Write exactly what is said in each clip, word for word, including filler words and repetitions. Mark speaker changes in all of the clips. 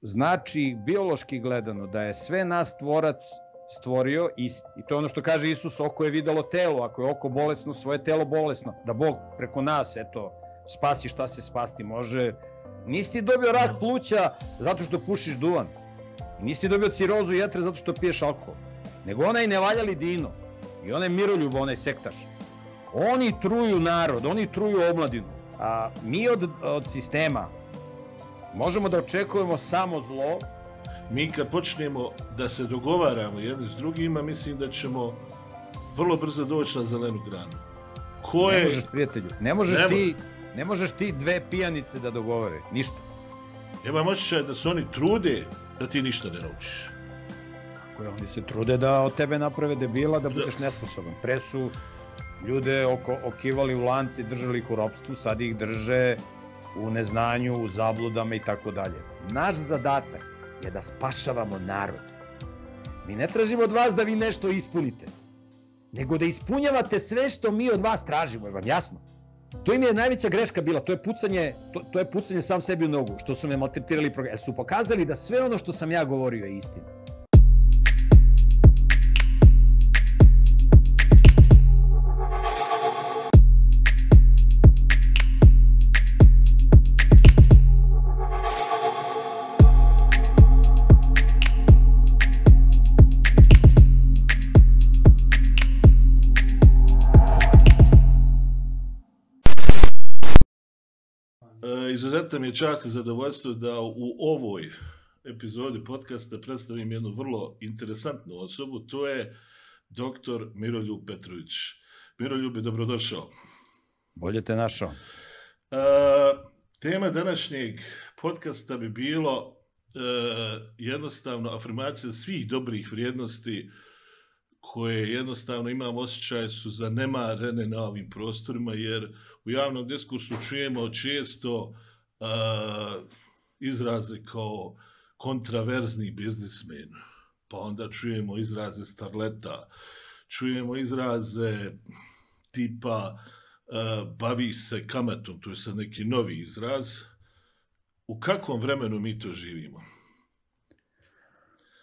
Speaker 1: znači biološki gledano da je sve nas tvorac stvorio isti. I to je ono što kaže Isus, oko je videlo telo, ako je oko bolesno, svoje telo bolesno. Da Bog preko nas, eto, spasi šta se spasti može. Nisi ti dobio rak pluća zato što pušiš duvan. Nisi ti dobio cirozu jetre zato što piješ alkohol. Nego onaj nevaljali Dino i onaj Miroljub, onaj sektaš. Oni truju narod, oni truju omladinu. A mi od, od sistema možemo da očekujemo samo zlo.
Speaker 2: Mi kad počnemo da se dogovaramo jedni s drugima, mislim da ćemo vrlo brzo doći na zelenu granu. Ko je...
Speaker 1: Ne možeš, prijatelju, ne možeš, ne ti, ne možeš ti dve pijanice da dogovore, ništa.
Speaker 2: Imam osjećaj da se oni trude da ti ništa ne naučiš.
Speaker 1: Tako je, oni se trude da od tebe naprave debila, da budeš nesposoban. Pre su ljude oko, okivali u lanci, držali ih u ropstvu, sad ih drže u neznanju, u zabludama i tako dalje. Naš zadatak je da spašavamo narod. Mi ne tražimo od vas da vi nešto ispunite, nego da ispunjavate sve što mi od vas tražimo, je vam jasno? To im je najveća greška bila, to je pucanje, to, to je pucanje sam sebi u nogu, što su me maltretirali, jer su pokazali da sve ono što sam ja govorio je istina.
Speaker 2: Izuzetno mi je čast i zadovoljstvo da u ovoj epizodi podcasta predstavim jednu vrlo interesantnu osobu, to je doktor Miroljub Petrović. Miroljub je dobrodošao.
Speaker 1: Bolje te našao.
Speaker 2: E, tema današnjeg podcasta bi bilo e, jednostavno afirmacija svih dobrih vrijednosti koje jednostavno imam osjećaj su zanemarene na ovim prostorima, jer u javnom diskursu čujemo često uh, izraze kao kontraverzni biznismen, pa onda čujemo izraze starleta, čujemo izraze tipa uh, bavi se kamatom, to je sad neki novi izraz. U kakvom vremenu mi to živimo?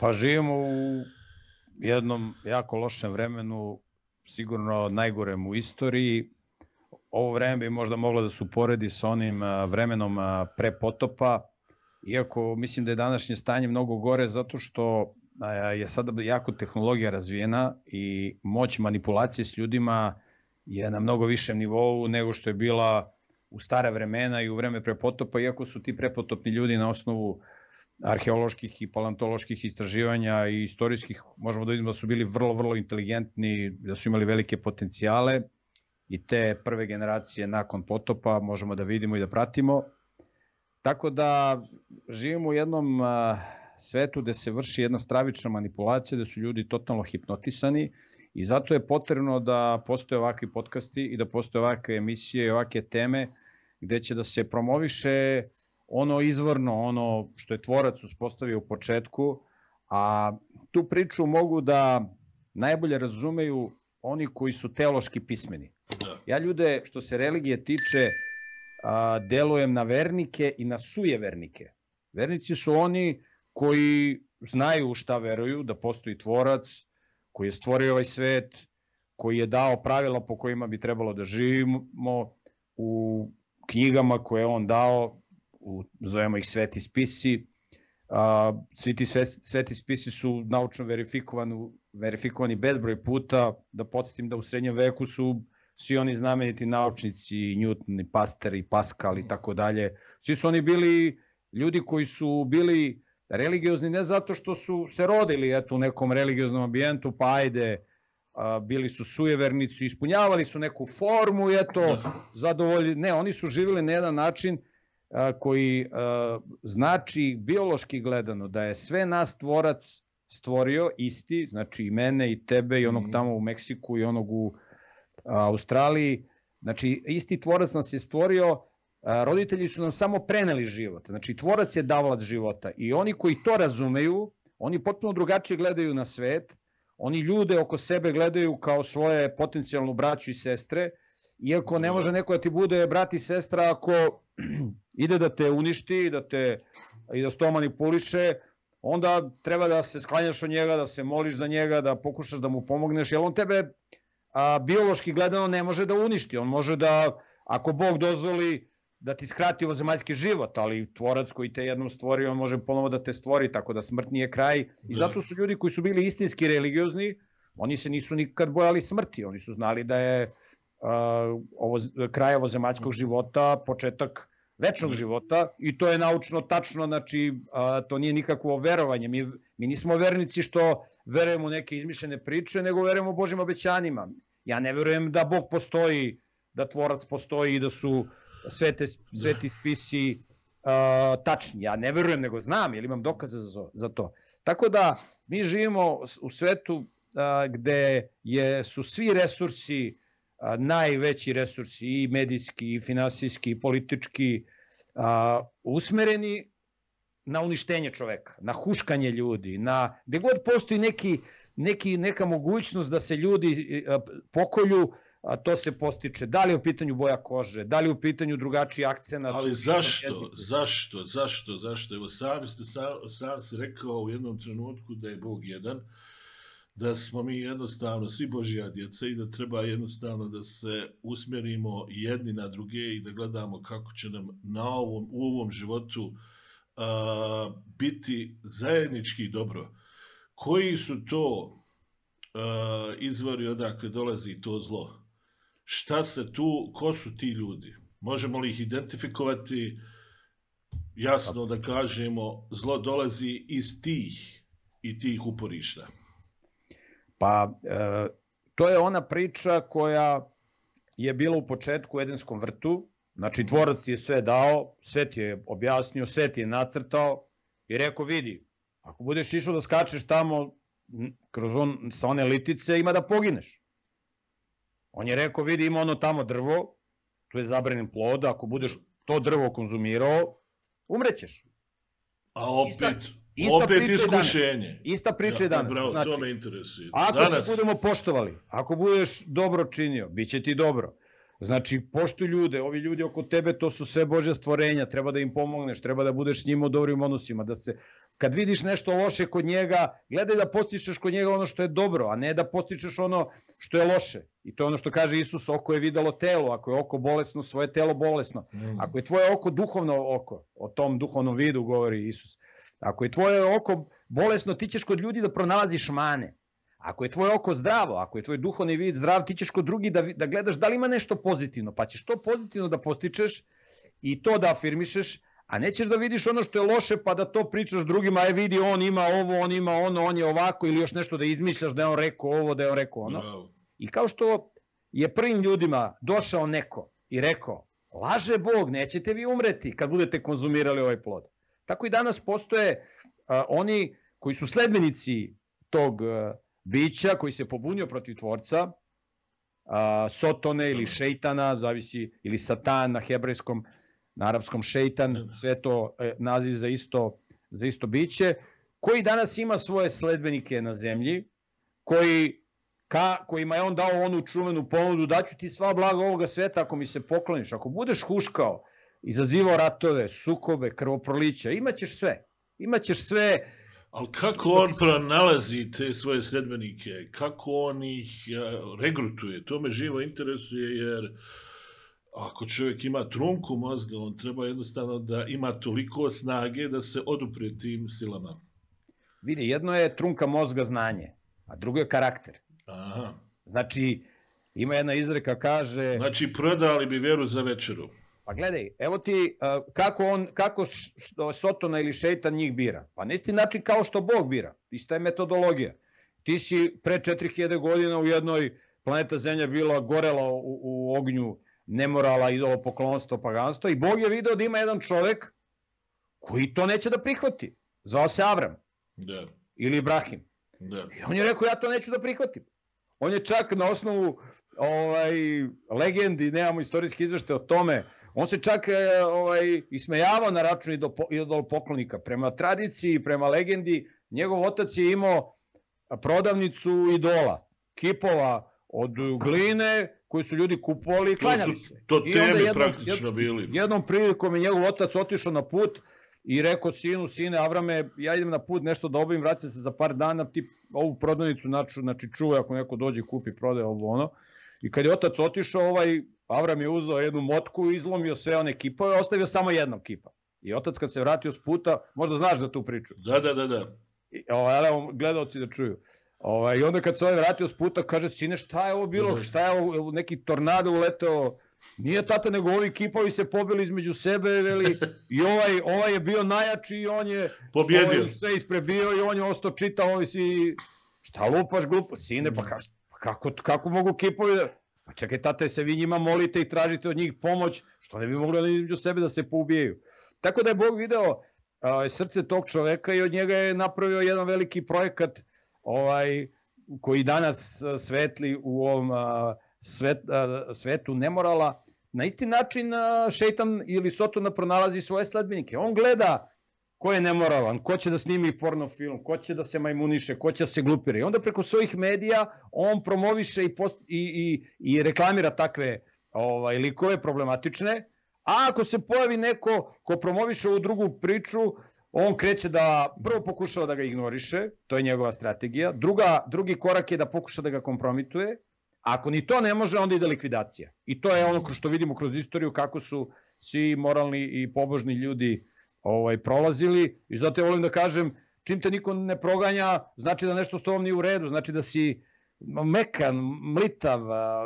Speaker 1: Pa živimo u jednom jako lošem vremenu, sigurno najgorem u istoriji. Ovo vreme bi možda moglo da se uporedi sa onim vremenom pre potopa, iako mislim da je današnje stanje mnogo gore zato što je sada jako tehnologija razvijena i moć manipulacije s ljudima je na mnogo višem nivou nego što je bila u stare vremena i u vreme pre potopa, iako su ti prepotopni ljudi na osnovu arheoloških i paleontoloških istraživanja i istorijskih, možemo da vidimo da su bili vrlo, vrlo inteligentni, da su imali velike potencijale i te prve generacije nakon potopa možemo da vidimo i da pratimo. Tako da živimo u jednom svetu gde se vrši jedna stravična manipulacija, gde su ljudi totalno hipnotisani i zato je potrebno da postoje ovakvi podcasti i da postoje ovakve emisije i ovakve teme gde će da se promoviše ono izvorno, ono što je tvorac uspostavio u početku, a tu priču mogu da najbolje razumeju oni koji su teološki pismeni. Ja ljude, što se religije tiče, delujem na vernike i na sujevernike. Vernici su oni koji znaju šta veruju, da postoji tvorac, koji je stvorio ovaj svet, koji je dao pravila po kojima bi trebalo da živimo u knjigama koje je on dao, zovemo ih sveti spisi. Svi ti sveti spisi su naučno verifikovani, verifikovani bezbroj puta. Da podsjetim da u srednjem veku su svi oni znameniti naučnici, Newton, Pasteur i Pascal i tako dalje. Svi su oni bili ljudi koji su bili religiozni ne zato što su se rodili eto, u nekom religioznom ambijentu, pa ajde, bili su sujevernici, ispunjavali su neku formu i eto, zadovoljili. Ne, oni su živjeli na jedan način koji znači biološki gledano da je sve nas tvorac stvorio isti, znači i mene i tebe i onog tamo u Meksiku i onog u Australiji, znači isti tvorac nas je stvorio, roditelji su nam samo preneli život, znači tvorac je davalac života i oni koji to razumeju, oni potpuno drugačije gledaju na svet, oni ljude oko sebe gledaju kao svoje potencijalnu braću i sestre, iako ne može neko da ti bude brat i sestra ako ide da te uništi, da te, i da s to manipuliše, onda treba da se sklanjaš od njega, da se moliš za njega, da pokušaš da mu pomogneš, jer on tebe a, biološki gledano ne može da uništi. On može da, ako Bog dozvoli, da ti skrati ovozemaljski život, ali tvorac koji te jednom stvori, on može ponovo da te stvori, tako da smrt nije kraj. I zato su ljudi koji su bili istinski religiozni, oni se nisu nikad bojali smrti, oni su znali da je uh, ovo, kraj ovozemaljskog života početak večnog života i to je naučno tačno, znači uh, to nije nikakvo verovanje. Mi, mi nismo vernici što verujemo u neke izmišljene priče, nego verujemo Božjim obećanjima. Ja ne verujem da Bog postoji, da tvorac postoji i da su Svete, sveti spisi uh, tačni. Ja ne verujem, nego znam, jer imam dokaze za, za to. Tako da mi živimo u svetu uh, gde je, su svi resursi, uh, najveći resursi, i medijski, i finansijski, i politički, uh, usmereni na uništenje čoveka, na huškanje ljudi, na gde god postoji neki, neki, neka mogućnost da se ljudi uh, pokolju, a to se postiče. Da li je u pitanju boja kože, da li je u pitanju drugačiji akcenat.
Speaker 2: Ali zašto, zašto, zašto, zašto? Evo sam ste sam, sam si rekao u jednom trenutku da je Bog jedan, da smo mi jednostavno svi Božja djeca i da treba jednostavno da se usmjerimo jedni na druge i da gledamo kako će nam na ovom, u ovom životu a, biti zajednički dobro. Koji su to a, izvori odakle dolazi to zlo? Šta se tu, ko su ti ljudi? Možemo li ih identifikovati? Jasno da kažemo, zlo dolazi iz tih i tih uporišta.
Speaker 1: Pa, e, to je ona priča koja je bila u početku u Edenskom vrtu. Znači, tvorac ti je sve dao, sve ti je objasnio, sve ti je nacrtao i rekao, vidi, ako budeš išao da skačeš tamo kroz on, sa one litice, ima da pogineš. On je rekao, vidi, ima ono tamo drvo, tu je zabranjen plod, ako budeš to drvo konzumirao, umrećeš.
Speaker 2: A opet,
Speaker 1: ista, ista
Speaker 2: opet iskušenje.
Speaker 1: Ista priča je danas.
Speaker 2: Bravo,
Speaker 1: znači,
Speaker 2: to me interesuje.
Speaker 1: Ako
Speaker 2: danas...
Speaker 1: se budemo poštovali, ako budeš dobro činio, bit će ti dobro. Znači, poštuj ljude, ovi ljudi oko tebe, to su sve Božja stvorenja, treba da im pomogneš, treba da budeš s njima u dobrim odnosima, da se, kad vidiš nešto loše kod njega, gledaj da postičeš kod njega ono što je dobro, a ne da postičeš ono što je loše. I to je ono što kaže Isus, oko je videlo telo, ako je oko bolesno, svoje telo bolesno. Mm. Ako je tvoje oko duhovno oko, o tom duhovnom vidu govori Isus, ako je tvoje oko bolesno, ti ćeš kod ljudi da pronalaziš mane. Ako je tvoje oko zdravo, ako je tvoj duhovni vid zdrav, ti ćeš kod drugi da, da gledaš da li ima nešto pozitivno, pa ćeš to pozitivno da postičeš i to da afirmišeš, a nećeš da vidiš ono što je loše pa da to pričaš drugima, aj vidi on ima ovo, on ima ono, on je ovako, ili još nešto da izmišljaš da je on rekao ovo, da je on rekao ono. Bravo. I kao što je prvim ljudima došao neko i rekao, laže Bog, nećete vi umreti kad budete konzumirali ovaj plod. Tako i danas postoje a, oni koji su sledbenici tog a, bića koji se pobunio protiv tvorca, a, Sotone ili šeitana, zavisi, ili satan na hebrejskom, na arapskom šeitan, sve to e, naziv za isto, za isto biće, koji danas ima svoje sledbenike na zemlji, koji, ka, kojima je on dao onu čuvenu ponudu, daću ti sva blaga ovoga sveta ako mi se pokloniš, ako budeš huškao, izazivao ratove, sukobe, krvoprolića, imaćeš sve, imaćeš sve.
Speaker 2: Ali kako on pronalazi te svoje sledbenike, kako on ih regrutuje, to me živo interesuje, jer ako čovjek ima trunku mozga, on treba jednostavno da ima toliko snage da se odupre tim silama.
Speaker 1: Vidi, jedno je trunka mozga znanje, a drugo je karakter.
Speaker 2: Aha.
Speaker 1: Znači, ima jedna izreka kaže...
Speaker 2: Znači, prodali bi vjeru za večeru.
Speaker 1: Pa gledaj, evo ti kako, on, kako Sotona ili šeitan njih bira. Pa na isti način kao što Bog bira. Ista je metodologija. Ti si pre četiri hiljade godina u jednoj planeta Zemlja bila gorela u, u ognju nemorala, idolopoklonstva, paganstva i Bog je video da ima jedan čovek koji to neće da prihvati. Zvao se Avram.
Speaker 2: Da.
Speaker 1: Ili Ibrahim.
Speaker 2: Da.
Speaker 1: I on je rekao, ja to neću da prihvatim. On je čak na osnovu ovaj, legendi, nemamo istorijski izvešte o tome, on se čak ovaj, ismejavao na račun idolopoklonika. Prema tradiciji, prema legendi, njegov otac je imao prodavnicu idola, kipova od gline koju su ljudi kupovali i klanjali se.
Speaker 2: To teme praktično bili.
Speaker 1: Jednom prilikom je njegov otac otišao na put i rekao sinu, sine Avrame, ja idem na put nešto da obavim, vraćam se za par dana, ti ovu prodavnicu znači čuvaj ako neko dođe kupi, prodaje ovo ono. I kad je otac otišao, ovaj Avram je uzeo jednu motku, izlomio sve one kipove, ostavio samo jednog kipa. I otac kad se vratio s puta, možda znaš za tu priču.
Speaker 2: Da, da, da, da.
Speaker 1: I, ovaj, evo, gledalci da čuju. Ovaj, I onda kad se ovaj vratio s puta, kaže, sine, šta je ovo bilo, šta je ovo, neki tornado uleteo, nije tata, nego ovi kipovi se pobili između sebe, veli, i ovaj, ovaj je bio najjači i on je
Speaker 2: pobjedio.
Speaker 1: Ovaj, sve isprebio i on je ostao čitao, ovaj si, šta lupaš glupo, sine, pa kako, kako mogu kipovi da... Pa čekaj, tate, se vi njima molite i tražite od njih pomoć, što ne bi mogli da između sebe da se poubijaju. Tako da je Bog video a, srce tog čoveka i od njega je napravio jedan veliki projekat ovaj, koji danas svetli u ovom a, svet, a, svetu nemorala. Na isti način a, šeitan ili Sotona pronalazi svoje sledbenike. On gleda ko je nemoralan, ko će da snimi porno film, ko će da se majmuniše, ko će da se glupira. I onda preko svojih medija on promoviše i, post, i, i, i reklamira takve ovaj, likove problematične. A ako se pojavi neko ko promoviše ovu drugu priču, on kreće da prvo pokušava da ga ignoriše, to je njegova strategija. Druga, drugi korak je da pokuša da ga kompromituje. Ako ni to ne može, onda ide likvidacija. I to je ono što vidimo kroz istoriju, kako su svi moralni i pobožni ljudi ovaj, prolazili. I zato ja volim da kažem, čim te niko ne proganja, znači da nešto s tobom nije u redu, znači da si mekan, mlitav,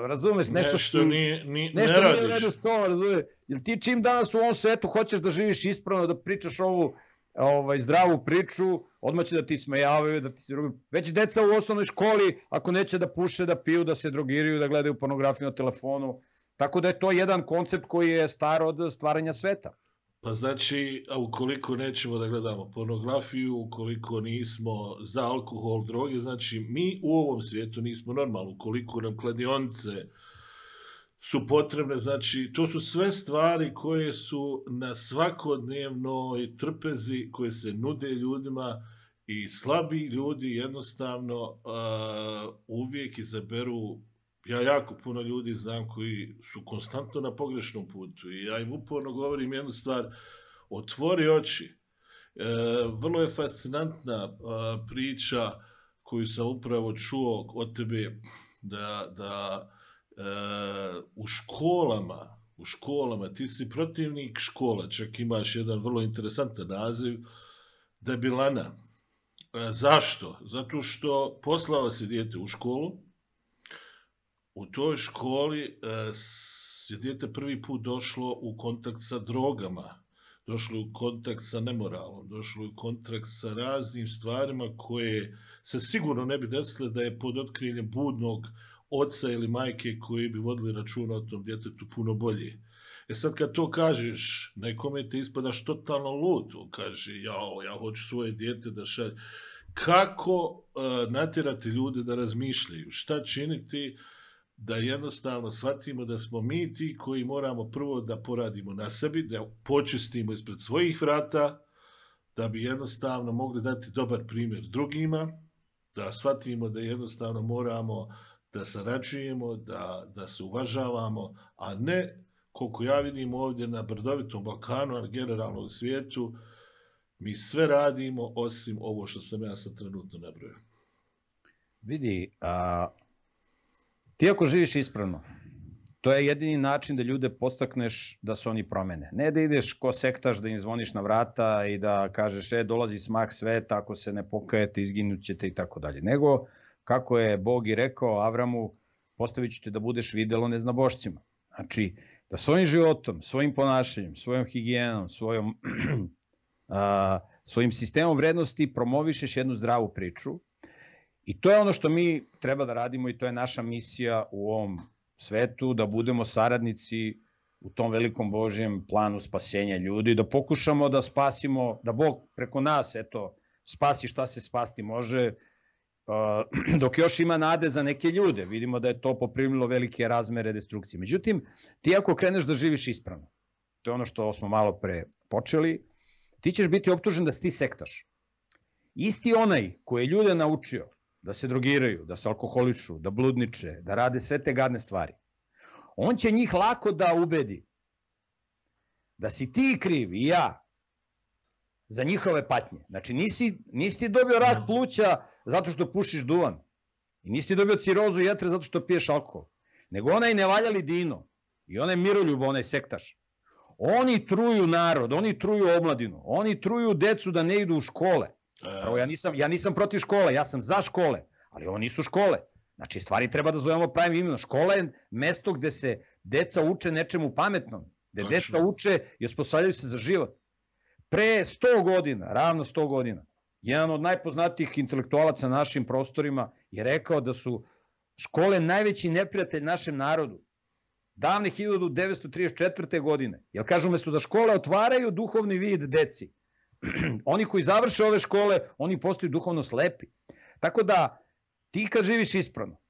Speaker 1: razumeš, nešto,
Speaker 2: nešto,
Speaker 1: si,
Speaker 2: nije, nije,
Speaker 1: nešto
Speaker 2: ne
Speaker 1: nije u redu s tobom, razumeš. Jer ti čim danas u ovom svetu hoćeš da živiš ispravno, da pričaš ovu ovaj, zdravu priču, odmah će da ti smejavaju, da ti se drugi... Već deca u osnovnoj školi, ako neće da puše, da piju, da se drogiraju, da gledaju pornografiju na telefonu. Tako da je to jedan koncept koji je star od stvaranja sveta.
Speaker 2: Pa znači, a ukoliko nećemo da gledamo pornografiju, ukoliko nismo za alkohol, droge, znači mi u ovom svijetu nismo normalni, ukoliko nam kladionice su potrebne, znači to su sve stvari koje su na svakodnevnoj trpezi, koje se nude ljudima i slabi ljudi jednostavno uh, uvijek izaberu. Ja jako puno ljudi znam koji su konstantno na pogrešnom putu i ja im uporno govorim jednu stvar, otvori oči. E, vrlo je fascinantna a, priča koju sam upravo čuo od tebe da, da e, u školama, u školama, ti si protivnik škola, čak imaš jedan vrlo interesantan naziv, debilana. E, zašto? Zato što poslao si dijete u školu, u toj školi je dijete prvi put došlo u kontakt sa drogama, došlo u kontakt sa nemoralom, došlo u kontakt sa raznim stvarima koje se sigurno ne bi desile da je pod otkriljem budnog oca ili majke koji bi vodili računa o tom djetetu puno bolje. E sad kad to kažeš, nekome te ispadaš totalno ludo, kaže jao, ja hoću svoje dijete da šalje. Kako uh, natjerati ljude da razmišljaju? Šta činiti da jednostavno shvatimo da smo mi ti koji moramo prvo da poradimo na sebi, da počistimo ispred svojih vrata, da bi jednostavno mogli dati dobar primjer drugima, da shvatimo da jednostavno moramo da sarađujemo, da, da se uvažavamo, a ne, koliko ja vidim ovdje na brdovitom Balkanu, a generalno u svijetu, mi sve radimo osim ovo što sam ja sad trenutno nabrojao.
Speaker 1: Vidi, a... ti ako živiš ispravno, to je jedini način da ljude podstakneš da se oni promene. Ne da ideš ko sektaš, da im zvoniš na vrata i da kažeš, e, dolazi smak sveta, ako se ne pokajete, izginut ćete i tako dalje. Nego, kako je Bog i rekao Avramu, postavit ću te da budeš videlo neznabošcima. Znači, da svojim životom, svojim ponašanjem, svojom higijenom, svojom, a, svojim sistemom vrednosti promovišeš jednu zdravu priču. I to je ono što mi treba da radimo i to je naša misija u ovom svetu, da budemo saradnici u tom velikom Božjem planu spasenja ljudi, da pokušamo da spasimo, da Bog preko nas, eto, spasi šta se spasti može, dok još ima nade za neke ljude. Vidimo da je to poprimilo velike razmere destrukcije. Međutim, ti ako kreneš da živiš ispravno, to je ono što smo malo pre počeli, ti ćeš biti optužen da si ti sektaš. Isti onaj koji je ljude naučio da se drogiraju, da se alkoholišu, da bludniče, da rade sve te gadne stvari, on će njih lako da ubedi da si ti kriv i ja za njihove patnje. Znači nisi, nisi dobio rak pluća zato što pušiš duvan i nisi dobio cirozu jetre zato što piješ alkohol, nego onaj nevaljali Dino i onaj Miroljub, onaj sektaš. Oni truju narod, oni truju omladinu, oni truju decu da ne idu u škole. Prvo, ja nisam, ja nisam protiv škole, ja sam za škole, ali ovo nisu škole. Znači, stvari treba da zovemo pravim imenom. Škola je mesto gde se deca uče nečemu pametnom, gde deca uče i osposobljavaju se za život. Pre sto godina, ravno sto godina, jedan od najpoznatijih intelektualaca na našim prostorima je rekao da su škole najveći neprijatelj našem narodu. Davne hiljadu devetsto trideset četvrte. godine. Jer kažu, umesto da škole otvaraju duhovni vid deci, oni koji završe ove škole, oni postaju duhovno slepi. Tako da, ti kad živiš ispravno,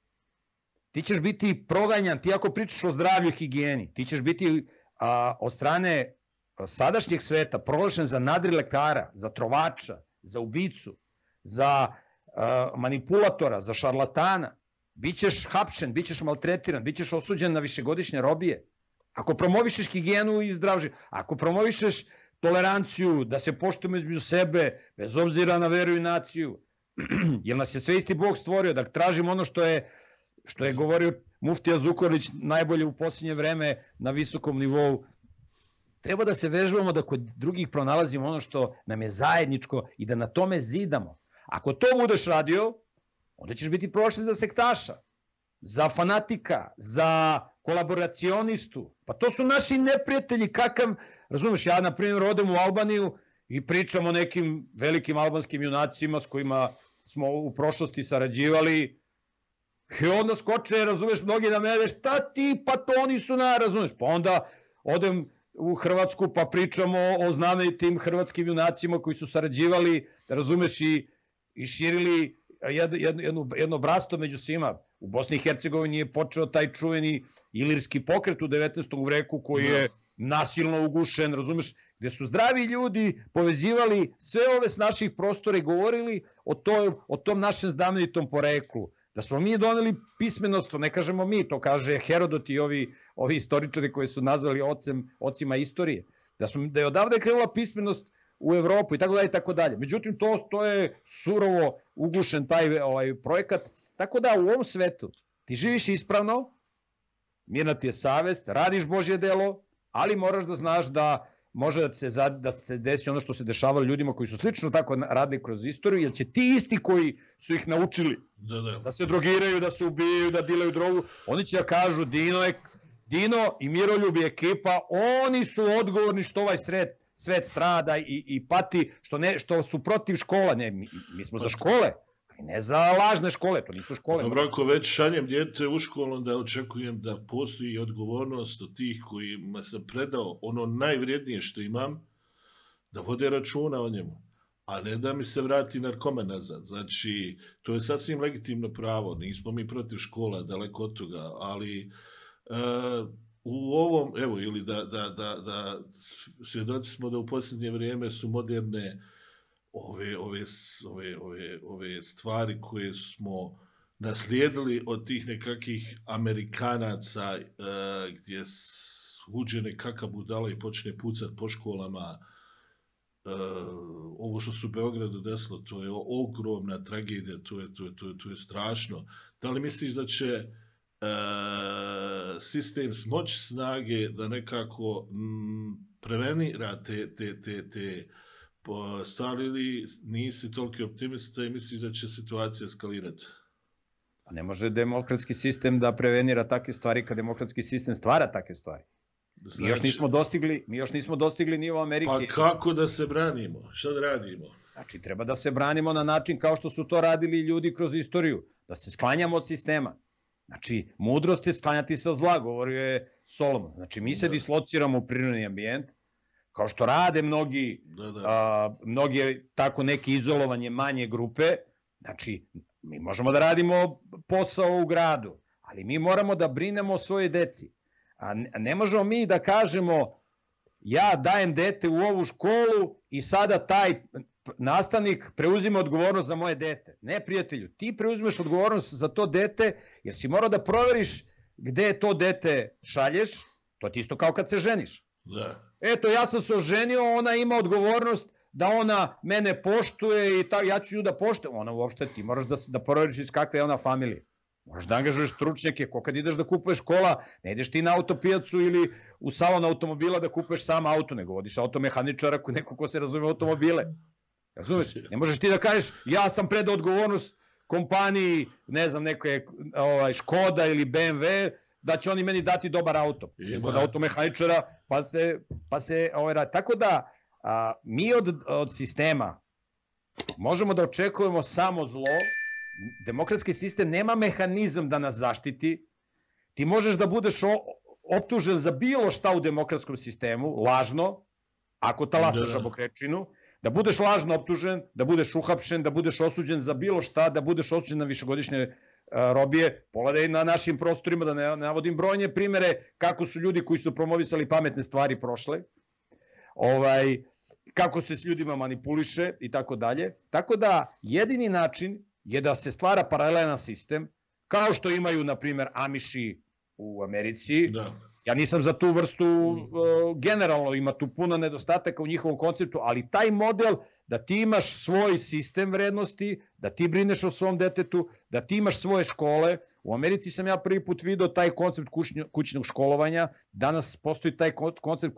Speaker 1: ti ćeš biti proganjan, ti ako pričaš o zdravlju i higijeni, ti ćeš biti a, od strane sadašnjeg sveta proglašen za nadrilekara, za trovača, za ubicu, za a, manipulatora, za šarlatana. Bićeš hapšen, bićeš maltretiran, bićeš osuđen na višegodišnje robije. Ako promovišeš higijenu i zdrav život, ako promovišeš toleranciju, da se poštujemo između sebe, bez obzira na veru i naciju, jer nas je sve isti Bog stvorio, da tražimo ono što je, što je govorio muftija Zukorlić najbolje u posljednje vreme na visokom nivou. Treba da se vežbamo da kod drugih pronalazimo ono što nam je zajedničko i da na tome zidamo. Ako to budeš radio, onda ćeš biti prošli za sektaša, za fanatika, za kolaboracionistu. Pa to su naši neprijatelji, kakav, razumeš, ja na primjer odem u Albaniju i pričam o nekim velikim albanskim junacima s kojima smo u prošlosti sarađivali i onda skoče, razumeš, mnogi na mene, šta ti, pa to oni su na, razumeš, pa onda odem u Hrvatsku pa pričamo o znamenitim hrvatskim junacima koji su sarađivali, razumeš, i, i širili jedno, jedno, jedno brasto među svima. U Bosni i Hercegovini je počeo taj čuveni ilirski pokret u devetnaestom veku koji je nasilno ugušen, razumeš, gde su zdravi ljudi povezivali sve ove s naših prostora i govorili o, to, o tom našem znamenitom poreklu. Da smo mi doneli pismenost, to ne kažemo mi, to kaže Herodot i ovi, ovi istoričari koji su nazvali ocem, ocima istorije. Da, smo, da je odavde krenula pismenost u Evropu i tako dalje i tako dalje. Međutim, to, to je surovo ugušen taj ovaj, projekat. Tako da u ovom svetu ti živiš ispravno, mirna ti je savest, radiš Božje delo, ali moraš da znaš da može da se, da se desi ono što se dešavalo ljudima koji su slično tako radili kroz istoriju, jer će ti isti koji su ih naučili
Speaker 2: da, da.
Speaker 1: da se drogiraju, da se ubijaju, da dilaju drogu, oni će da kažu Dino, je, Dino i Miroljub i ekipa, oni su odgovorni što ovaj sred, svet strada i, i pati, što, ne, što su protiv škola. Ne, mi, mi smo za škole, ali ne za lažne škole, to nisu škole.
Speaker 2: Dobro, ako već šaljem djete u školu, onda očekujem da postoji odgovornost od tih kojima sam predao ono najvrijednije što imam, da vode računa o njemu, a ne da mi se vrati narkoman nazad. Znači, to je sasvim legitimno pravo, nismo mi protiv škola, daleko od toga, ali uh, u ovom, evo, ili da, da, da, da svjedoci smo da u posljednje vrijeme su moderne ove, ove, ove, ove, ove stvari koje smo naslijedili od tih nekakvih Amerikanaca uh, gdje uđe nekakav budala i počne pucat po školama. Uh, ovo što su u Beogradu desilo, to je ogromna tragedija, to je, to je, to je, to je strašno. Da li misliš da će uh, sistem smoći snage da nekako m, prevenira te, te, te, te stvari, ili nisi toliki optimista i misliš da će situacija eskalirati?
Speaker 1: Ne može demokratski sistem da prevenira takve stvari kad demokratski sistem stvara takve stvari. Znači, mi još nismo dostigli, mi još nismo dostigli nivo Amerike.
Speaker 2: Pa kako da se branimo? Šta da radimo?
Speaker 1: Znači, treba da se branimo na način kao što su to radili ljudi kroz istoriju, da se sklanjamo od sistema. Znači, mudrost je sklanjati se od zla, govorio je Solomon. Znači, mi se da. dislociramo u prirodni ambijent, kao što rade mnogi, da, da. A, mnogi tako neki izolovanje manje grupe. Znači, mi možemo da radimo posao u gradu, ali mi moramo da brinemo o svojoj deci. A ne možemo mi da kažemo ja dajem dete u ovu školu i sada taj nastavnik preuzima odgovornost za moje dete. Ne, prijatelju, ti preuzmeš odgovornost za to dete, jer si morao da proveriš gde to dete šalješ, to ti isto kao kad se ženiš.
Speaker 2: Da.
Speaker 1: Eto, ja sam se oženio, ona ima odgovornost da ona mene poštuje i ta, ja ću nju da poštujem. Ona uopšte, ti moraš da, da proveriš iz kakve je ona familije. Moraš da angažuješ stručnjake, ko kad ideš da kupuješ kola, ne ideš ti na autopijacu ili u salon automobila da kupuješ sam auto, nego vodiš automehaničara, neko ko se razume automobile. Razumeš? Ne možeš ti da kažeš, ja sam predao odgovornost kompaniji, ne znam, neke ovaj, Škoda ili B M W, da će oni meni dati dobar auto. Kod automehaničara, pa se, pa se ovaj, radi. Tako da, a, mi od, od sistema možemo da očekujemo samo zlo. Demokratski sistem nema mehanizam da nas zaštiti. Ti možeš da budeš optužen za bilo šta u demokratskom sistemu, lažno, ako talasaš žabokrečinu, da budeš lažno optužen, da budeš uhapšen, da budeš osuđen za bilo šta, da budeš osuđen na višegodišnje robije. Pogledaj na našim prostorima, da ne navodim brojne primere kako su ljudi koji su promovisali pametne stvari prošle, ovaj, kako se s ljudima manipuliše i tako dalje. Tako da jedini način je da se stvara paralelan sistem, kao što imaju, na primjer, Amiši u Americi. Da. Ja nisam za tu vrstu, uh, generalno ima tu puno nedostataka u njihovom konceptu, ali taj model da ti imaš svoj sistem vrednosti, da ti brineš o svom detetu, da ti imaš svoje škole. U Americi sam ja prvi put video taj koncept kućnjo, kućnog školovanja. Danas postoji taj koncept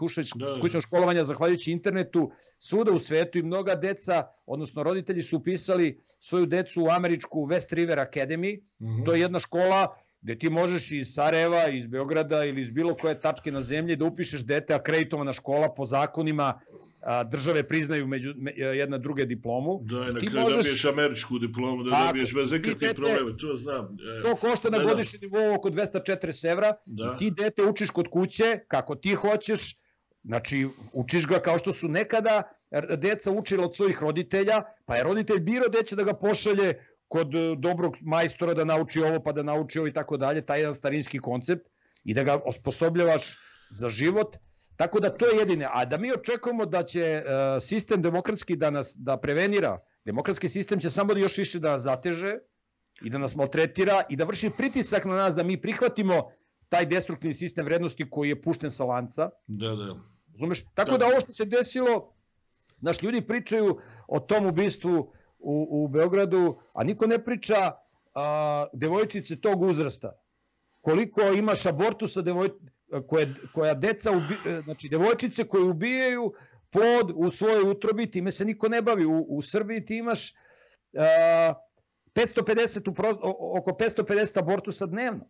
Speaker 1: kućnog školovanja zahvaljujući internetu svuda u svetu i mnoga deca, odnosno roditelji su upisali svoju decu u američku West River Academy. Mm-hmm. To je jedna škola gde ti možeš iz Sarajeva, iz Beograda ili iz bilo koje tačke na zemlji da upišeš dete, akreditovana škola po zakonima, a, države priznaju među, me, jedna druge diplomu.
Speaker 2: Da, i na kraju možeš... dobiješ američku diplomu, da tako, dobiješ bez nekakvih problema, to znam. E,
Speaker 1: to košta na godišnji nivou oko dvesta četrdeset evra da. I ti dete učiš kod kuće kako ti hoćeš, znači učiš ga kao što su nekada deca učila od svojih roditelja, pa je roditelj birao gde će da ga pošalje kod dobrog majstora da nauči ovo pa da nauči ovo i tako dalje, taj jedan starinski koncept i da ga osposobljavaš za život, tako da to je jedine. A da mi očekujemo da će uh, sistem demokratski da nas da prevenira, demokratski sistem će samo da još više da nas zateže i da nas maltretira i da vrši pritisak na nas da mi prihvatimo taj destruktivni sistem vrednosti koji je pušten sa lanca.
Speaker 2: Da, da.
Speaker 1: Razumeš? Tako da ovo što se desilo, naš ljudi pričaju o tom ubistvu U, u Beogradu, a niko ne priča a, devojčice tog uzrasta. Koliko imaš abortusa devoj, koje, koja deca, ubi, znači devojčice koje ubijaju plod u svojoj utrobi, time se niko ne bavi. U, u Srbiji ti imaš a, petsto pedeset, oko petsto pedeset abortusa dnevno.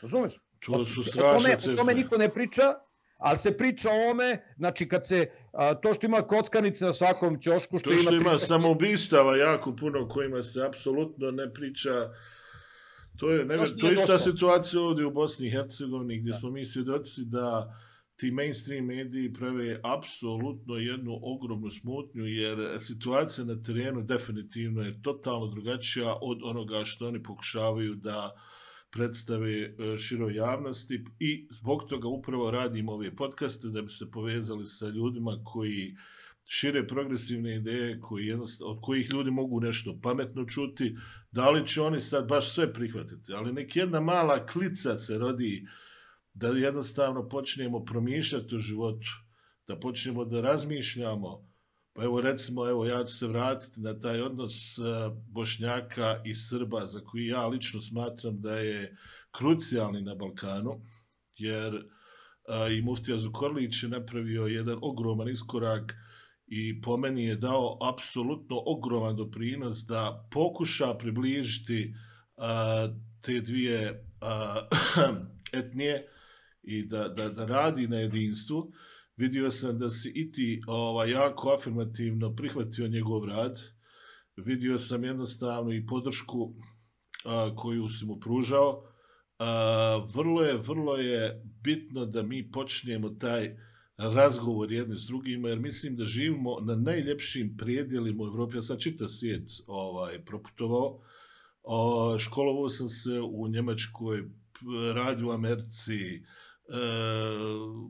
Speaker 1: Razumeš?
Speaker 2: To su strašne cifre.
Speaker 1: O tome niko ne priča, ali se priča o ome, znači kad se, a, to što ima kockanice na svakom ćošku, što,
Speaker 2: to što
Speaker 1: ima...
Speaker 2: ima samoubistava jako puno kojima se apsolutno ne priča, to je, ne, to, to je ista situacija ovdje u Bosni i Hercegovini gdje da. Smo mi svjedoci da ti mainstream mediji prave apsolutno jednu ogromnu smutnju jer situacija na terenu definitivno je totalno drugačija od onoga što oni pokušavaju da predstave široj javnosti i zbog toga upravo radimo ove podcaste da bi se povezali sa ljudima koji šire progresivne ideje, koji od kojih ljudi mogu nešto pametno čuti. Da li će oni sad baš sve prihvatiti, ali nek jedna mala klica se rodi da jednostavno počnemo promišljati o životu, da počnemo da razmišljamo. Pa evo recimo, evo ja ću se vratiti na taj odnos Bošnjaka i Srba za koji ja lično smatram da je krucijalni na Balkanu, jer a, i muftija Zukorlić je napravio jedan ogroman iskorak i po meni je dao apsolutno ogroman doprinos da pokuša približiti a, te dvije a, etnije i da, da, da radi na jedinstvu. Vidio sam da si i ti ovaj, jako afirmativno prihvatio njegov rad. Vidio sam jednostavno i podršku a, koju si mu pružao. A, vrlo je, vrlo je bitno da mi počnemo taj razgovor jedni s drugima, jer mislim da živimo na najljepšim predjelima u Evropi. Ja sam čitav svijet ovaj, proputovao. O, školovao sam se u Njemačkoj, radio u Americi,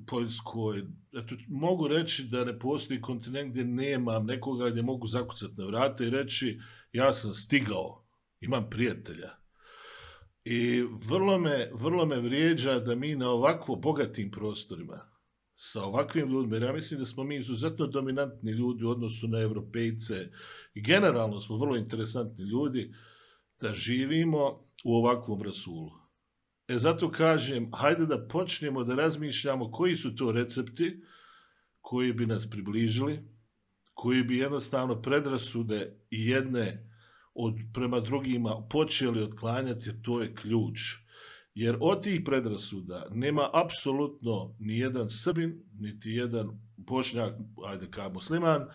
Speaker 2: Poljskoj. Eto, mogu reći da ne postoji kontinent gdje nemam nekoga gdje mogu zakucati na vrata i reći ja sam stigao, imam prijatelja. I vrlo me, vrlo me vrijeđa da mi na ovakvo bogatim prostorima, sa ovakvim ljudima, jer ja mislim da smo mi izuzetno dominantni ljudi u odnosu na Evropejce i generalno smo vrlo interesantni ljudi, da živimo u ovakvom rasulu. E zato kažem, hajde da počnemo da razmišljamo koji su to recepti koji bi nas približili, koji bi jednostavno predrasude i jedne od, prema drugima počeli otklanjati, jer to je ključ. Jer od tih predrasuda nema apsolutno ni jedan Srbin, niti jedan Bošnjak, ajde kao musliman, uh,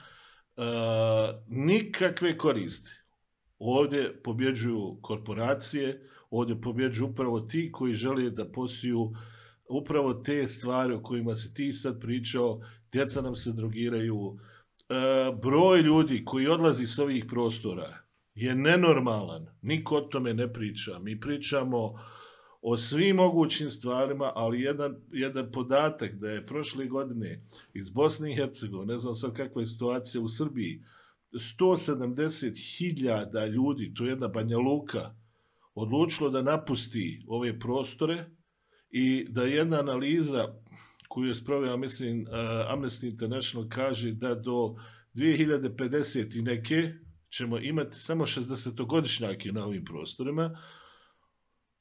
Speaker 2: nikakve koristi. Ovdje pobjeđuju korporacije, ovdje pobjeđuju upravo ti koji žele da posiju upravo te stvari o kojima si ti sad pričao, djeca nam se drogiraju, e, broj ljudi koji odlazi s ovih prostora je nenormalan, niko o tome ne priča, mi pričamo o svim mogućim stvarima, ali jedan, jedan podatak da je prošle godine iz Bosne i Hercegovine, ne znam sad kakva je situacija u Srbiji, sto sedamdeset hiljada ljudi, to je jedna Banja Luka, odlučilo da napusti ove prostore i da jedna analiza koju je sproveo, mislim, Amnesty International kaže da do dvije hiljade pedeset i neke ćemo imati samo šezdesetogodišnjake na ovim prostorima,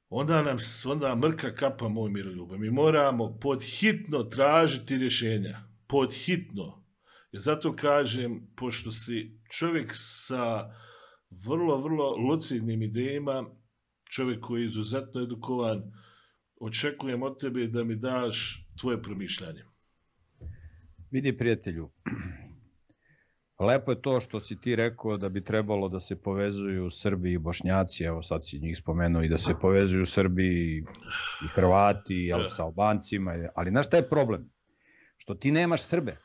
Speaker 2: onda nam onda mrka kapa, moj Miroljube. Mi moramo pod hitno tražiti rješenja. Pod hitno. I zato kažem, pošto si čovjek sa vrlo, vrlo lucidnim idejama, čovjek koji je izuzetno edukovan, očekujem od tebe da mi daš tvoje promišljanje.
Speaker 1: Vidi, prijatelju, lepo je to što si ti rekao da bi trebalo da se povezuju Srbi i Bošnjaci, evo sad si njih spomenuo, i da se povezuju Srbi i Hrvati, ali sa Albancima, ali znaš šta je problem? Što ti nemaš Srbe,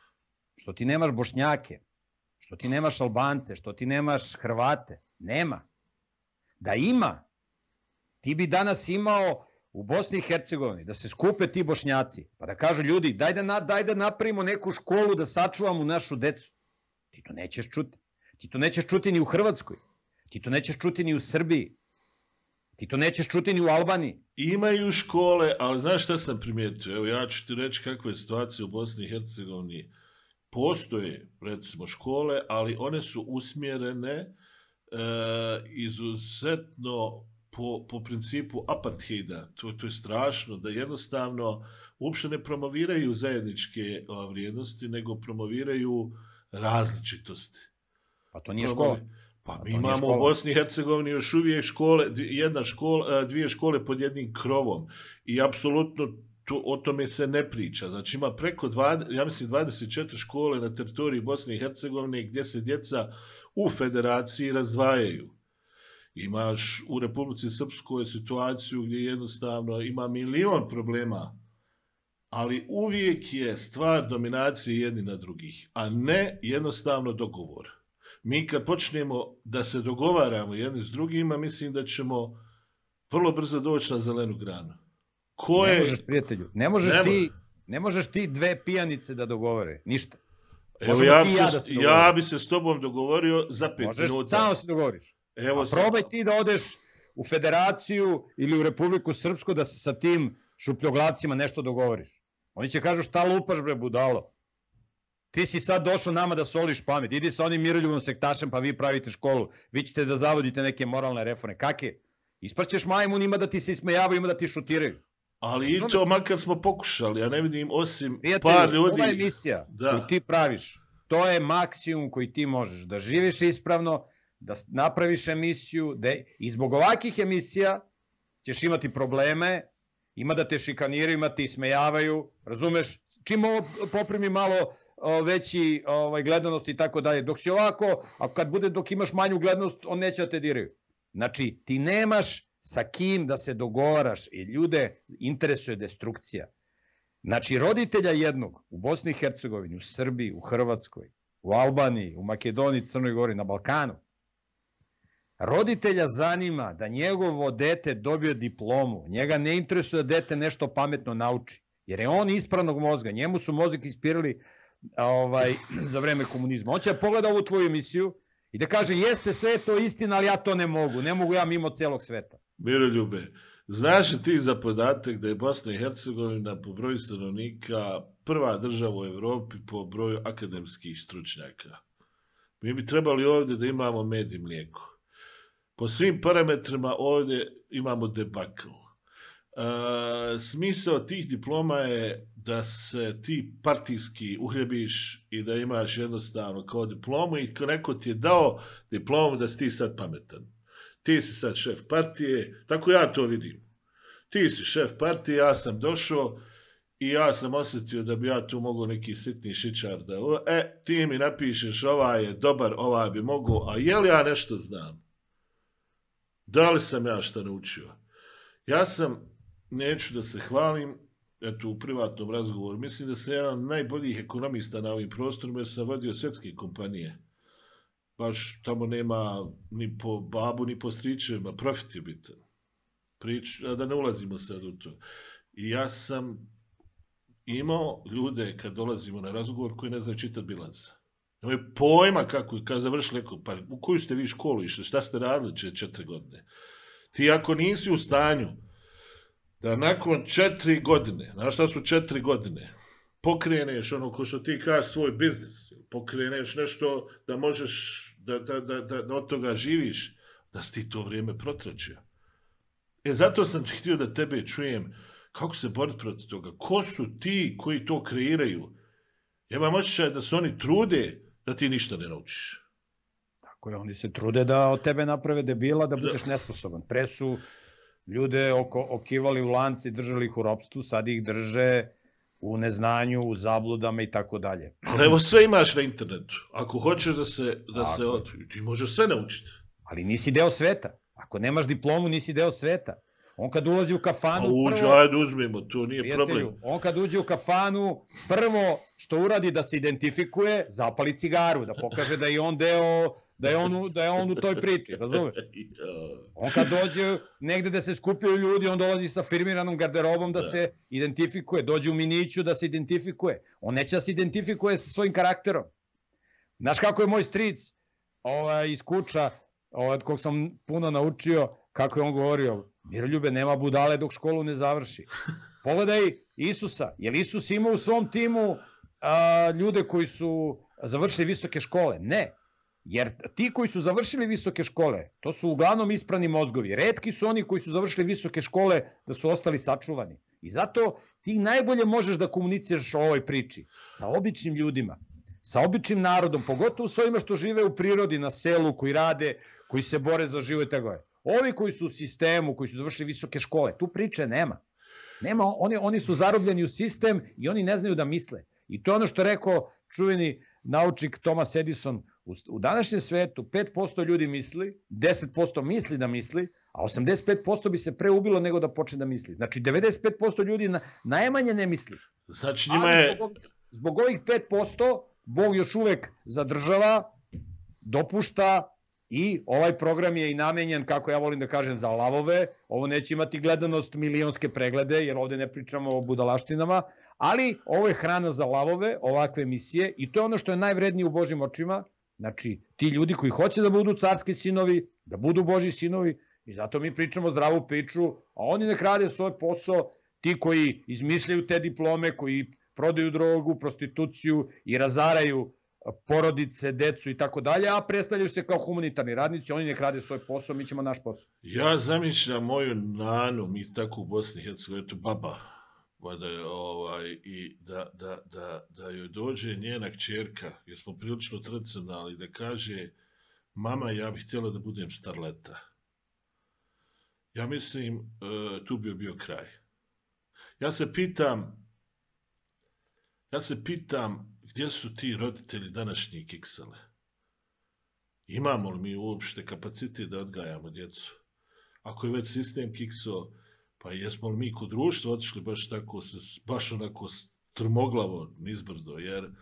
Speaker 1: što ti nemaš Bošnjake, što ti nemaš Albance, što ti nemaš Hrvate, nema. Da ima, ti bi danas imao u Bosni i Hercegovini da se skupe ti Bošnjaci, pa da kažu ljudi, daj da, na, daj da napravimo neku školu da sačuvamo našu decu. Ti to nećeš čuti. Ti to nećeš čuti ni u Hrvatskoj. Ti to nećeš čuti ni u Srbiji. Ti to nećeš čuti ni u Albaniji.
Speaker 2: Imaju škole, ali znaš šta sam primijetio? Evo ja ću ti reći kakva je situacija u Bosni i Hercegovini. Postoje, recimo, škole, ali one su usmjerene e, izuzetno po, po principu apartheida. To, to je strašno, da jednostavno uopšte ne promoviraju zajedničke o, vrijednosti, nego promoviraju različitosti.
Speaker 1: Pa to nije škola.
Speaker 2: Pa mi imamo u Bosni i Hercegovini još uvijek škole, jedna škola, dvije škole pod jednim krovom i apsolutno to, o tome se ne priča. Znači ima preko dvadeset, ja mislim dvadeset četiri škole na teritoriji Bosne i Hercegovine gdje se djeca u federaciji razdvajaju. Imaš u Republici Srpskoj situaciju gdje jednostavno ima milion problema, ali uvijek je stvar dominacije jedni na drugih, a ne jednostavno dogovor. Mi kad počnemo da se dogovaramo jedni s drugima, mislim da ćemo vrlo brzo doći na zelenu granu. Ko je...
Speaker 1: Ne možeš, prijatelju, ne možeš, ne ti, ne možeš ti dve pijanice da dogovore, ništa.
Speaker 2: Evo ja, se, ja, da se ja bi se s tobom dogovorio za pet
Speaker 1: možeš,
Speaker 2: minuta.
Speaker 1: Možeš, samo se dogovoriš.
Speaker 2: Evo
Speaker 1: a probaj ti da odeš u Federaciju ili u Republiku Srpsku da se sa tim šupljoglavcima nešto dogovoriš. Oni će kažu šta lupaš bre budalo. Ti si sad došao nama da soliš pamet. Idi sa onim Miroljubom sektašem pa vi pravite školu. Vi ćete da zavodite neke moralne reforme. Kakve? Isprćeš majmunima da ti se ismejavaju, ima da ti šutiraju.
Speaker 2: Ali i to makar smo pokušali. Ja ne vidim osim
Speaker 1: prijatelju,
Speaker 2: par ljudi.
Speaker 1: Ova emisija da. koju ti praviš, to je maksimum koji ti možeš. Da živiš ispravno, da napraviš emisiju. Da... I zbog ovakih emisija ćeš imati probleme. Ima da te šikaniraju, ima da te ismejavaju. Razumeš? Čim ovo poprimi malo veći ovaj, gledanost i tako dalje. Dok si ovako, a kad bude dok imaš manju gledanost, on neće da te diraju. Znači, ti nemaš sa kim da se dogovaraš i ljude interesuje destrukcija. Znači, roditelja jednog u Bosni i Hercegovini, u Srbiji, u Hrvatskoj, u Albaniji, u Makedoniji, Crnoj Gori, na Balkanu, roditelja zanima da njegovo dete dobije diplomu. Njega ne interesuje da dete nešto pametno nauči. jer je on ispranog mozga, njemu su mozak ispirali ovaj, za vreme komunizma. On će pogleda ovu tvoju emisiju i da kaže, jeste sve to istina, ali ja to ne mogu, ne mogu ja mimo celog sveta.
Speaker 2: Miroljube, znaš li ti za podatak da je Bosna i Hercegovina po broju stanovnika prva država u Evropi po broju akademskih stručnjaka? Mi bi trebali ovdje da imamo med i mlijeko. Po svim parametrima ovdje imamo debakl. E, smisao tih diploma je da se ti partijski uhljebiš i da imaš jednostavno kao diplomu i ko neko ti je dao diplomu da si ti sad pametan. Ti si sad šef partije, tako ja to vidim. Ti si šef partije, ja sam došao i ja sam osjetio da bi ja tu mogao neki sitni šičar da... E, ti mi napišeš, ovaj je dobar, ovaj bi mogao, a je li ja nešto znam? Da li sam ja šta naučio? Ja sam, neću da se hvalim, eto u privatnom razgovoru, mislim da sam jedan od najboljih ekonomista na ovim prostorima jer sam vodio svjetske kompanije. Baš tamo nema ni po babu, ni po stričevima, profit je bitan. Prič, a da ne ulazimo sad u to. I ja sam imao ljude kad dolazimo na razgovor koji ne znaju čitati bilansa. Nemaju pojma kako, kad završili, pa u koju ste vi školu išli, šta ste radili če, četiri godine. Ti ako nisi u stanju da nakon četiri godine, znaš šta su četiri godine, pokreneš ono ko što ti kažeš svoj biznis, pokreneš nešto da možeš, da, da, da, da, da od toga živiš, da si ti to vrijeme protračio. E, zato sam htio da tebe čujem kako se boriti protiv toga. Ko su ti koji to kreiraju? Ja imam osjećaj da se oni trude da ti ništa ne naučiš.
Speaker 1: Tako je, oni se trude da od tebe naprave debila, da budeš nesposoban. Pre su ljude oko, okivali u lanci, držali ih u ropstvu, sad ih drže u neznanju, u zabludama i tako dalje.
Speaker 2: Ali evo sve imaš na internetu. Ako hoćeš da se, da se od... ti možeš sve naučiti.
Speaker 1: Ali nisi deo sveta. Ako nemaš diplomu, nisi deo sveta. On kad ulazi u kafanu...
Speaker 2: A uđe,
Speaker 1: prvo,
Speaker 2: ajde uzmimo, to nije problem.
Speaker 1: On kad uđe u kafanu, prvo što uradi da se identifikuje, zapali cigaru, da pokaže da je on deo, da je on, da je on u toj priči, razumeš? On kad dođe negde da se skupio ljudi, on dolazi sa firmiranom garderobom da, da se identifikuje, dođe u miniću da se identifikuje. On neće da se identifikuje sa svojim karakterom. Znaš kako je moj stric ovaj, iz Kuča, ovaj, kog sam puno naučio, kako je on govorio, Miroljube, nema budale dok školu ne završi. Pogledaj Isusa. Je li Isus imao u svom timu a, ljude koji su završili visoke škole? Ne. Jer ti koji su završili visoke škole, to su uglavnom isprani mozgovi. Retki su oni koji su završili visoke škole da su ostali sačuvani. I zato ti najbolje možeš da komuniciraš o ovoj priči sa običnim ljudima, sa običnim narodom, pogotovo s ovima što žive u prirodi, na selu, koji rade, koji se bore za život i tako je. Ovi koji su u sistemu, koji su završili visoke škole, tu priče nema. Nema, oni, oni su zarobljeni u sistem i oni ne znaju da misle. I to je ono što je rekao čuveni naučnik Thomas Edison. U, u današnjem svetu pet posto ljudi misli, deset posto misli da misli, a osamdeset pet posto bi se pre ubilo nego da počne da misli. Znači devedeset pet posto ljudi na, najmanje ne misli.
Speaker 2: Znači njima je...
Speaker 1: Ali zbog, zbog ovih pet posto Bog još uvek zadržava, dopušta. I ovaj program je i namenjen, kako ja volim da kažem, za lavove. Ovo neće imati gledanost milionske preglede, jer ovde ne pričamo o budalaštinama, ali ovo je hrana za lavove, ovakve emisije, i to je ono što je najvrednije u Božjim očima. Znači, ti ljudi koji hoće da budu carski sinovi, da budu Božji sinovi, i zato mi pričamo zdravu priču, a oni nek rade svoj posao, ti koji izmišljaju te diplome, koji prodaju drogu, prostituciju i razaraju porodice, decu i tako dalje, a predstavljaju se kao humanitarni radnici, oni nek rade svoj posao, mi ćemo naš posao.
Speaker 2: Ja zamišljam moju nanu, mi tako u Bosni i Hercegovini, eto baba, da, ovaj, i da, da, da, da joj dođe njena kćerka, jer smo prilično tradicionalni, da kaže, mama, ja bih htjela da budem starleta. Ja mislim, tu bi bio kraj. Ja se pitam, ja se pitam, gdje su ti roditelji današnji kiksele? Imamo li mi uopšte kapacitet da odgajamo djecu? Ako je već sistem kikso, pa jesmo li mi kod društva otišli baš tako, baš onako strmoglavo nizbrdo, jer uh,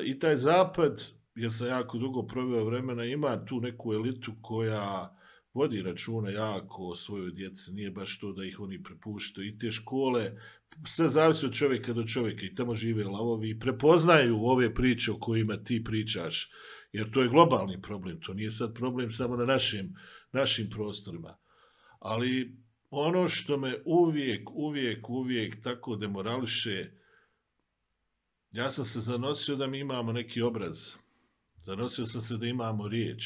Speaker 2: i taj zapad, jer sam jako dugo proveo vremena, ima tu neku elitu koja vodi računa jako o svojoj djeci, nije baš to da ih oni prepuštaju. I te škole, sve zavisi od čovjeka do čovjeka, i tamo žive lavovi i prepoznaju ove priče o kojima ti pričaš, jer to je globalni problem, to nije sad problem samo na našim, našim prostorima. Ali ono što me uvijek, uvijek, uvijek tako demorališe, ja sam se zanosio da mi imamo neki obraz, zanosio sam se da imamo riječ,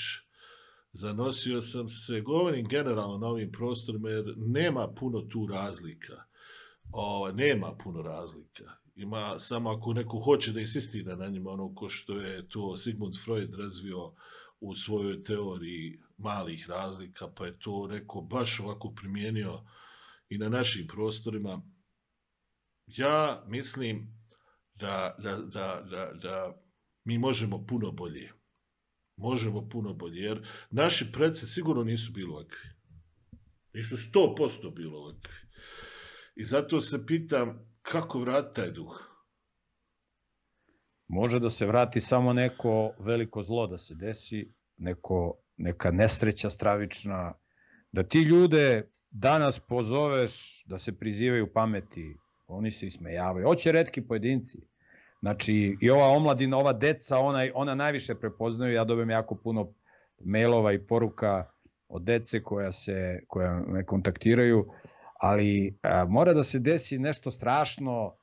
Speaker 2: zanosio sam se, govorim generalno na ovim prostorima, jer nema puno tu razlika. O, nema puno razlika. Ima samo ako neko hoće da insistira na njima, ono ko što je to Sigmund Freud razvio u svojoj teoriji malih razlika, pa je to rekao baš ovako primijenio i na našim prostorima. Ja mislim da, da, da, da, da mi možemo puno bolje. Možemo puno bolje, jer naši preci sigurno nisu bili ovakvi. Nisu sto posto bili ovakvi. I zato se pitam kako vratiti taj duh.
Speaker 1: Može da se vrati samo neko veliko zlo da se desi, neko, neka nesreća stravična, da ti ljude danas pozoveš da se prizivaju pameti, oni se ismejavaju. Hoće retki pojedinci. Znači, i ova omladina, ova deca, ona, ona najviše prepoznaju. Ja dobijem jako puno mailova i poruka od dece koja, se, koja me kontaktiraju, ali a, mora da se desi nešto strašno,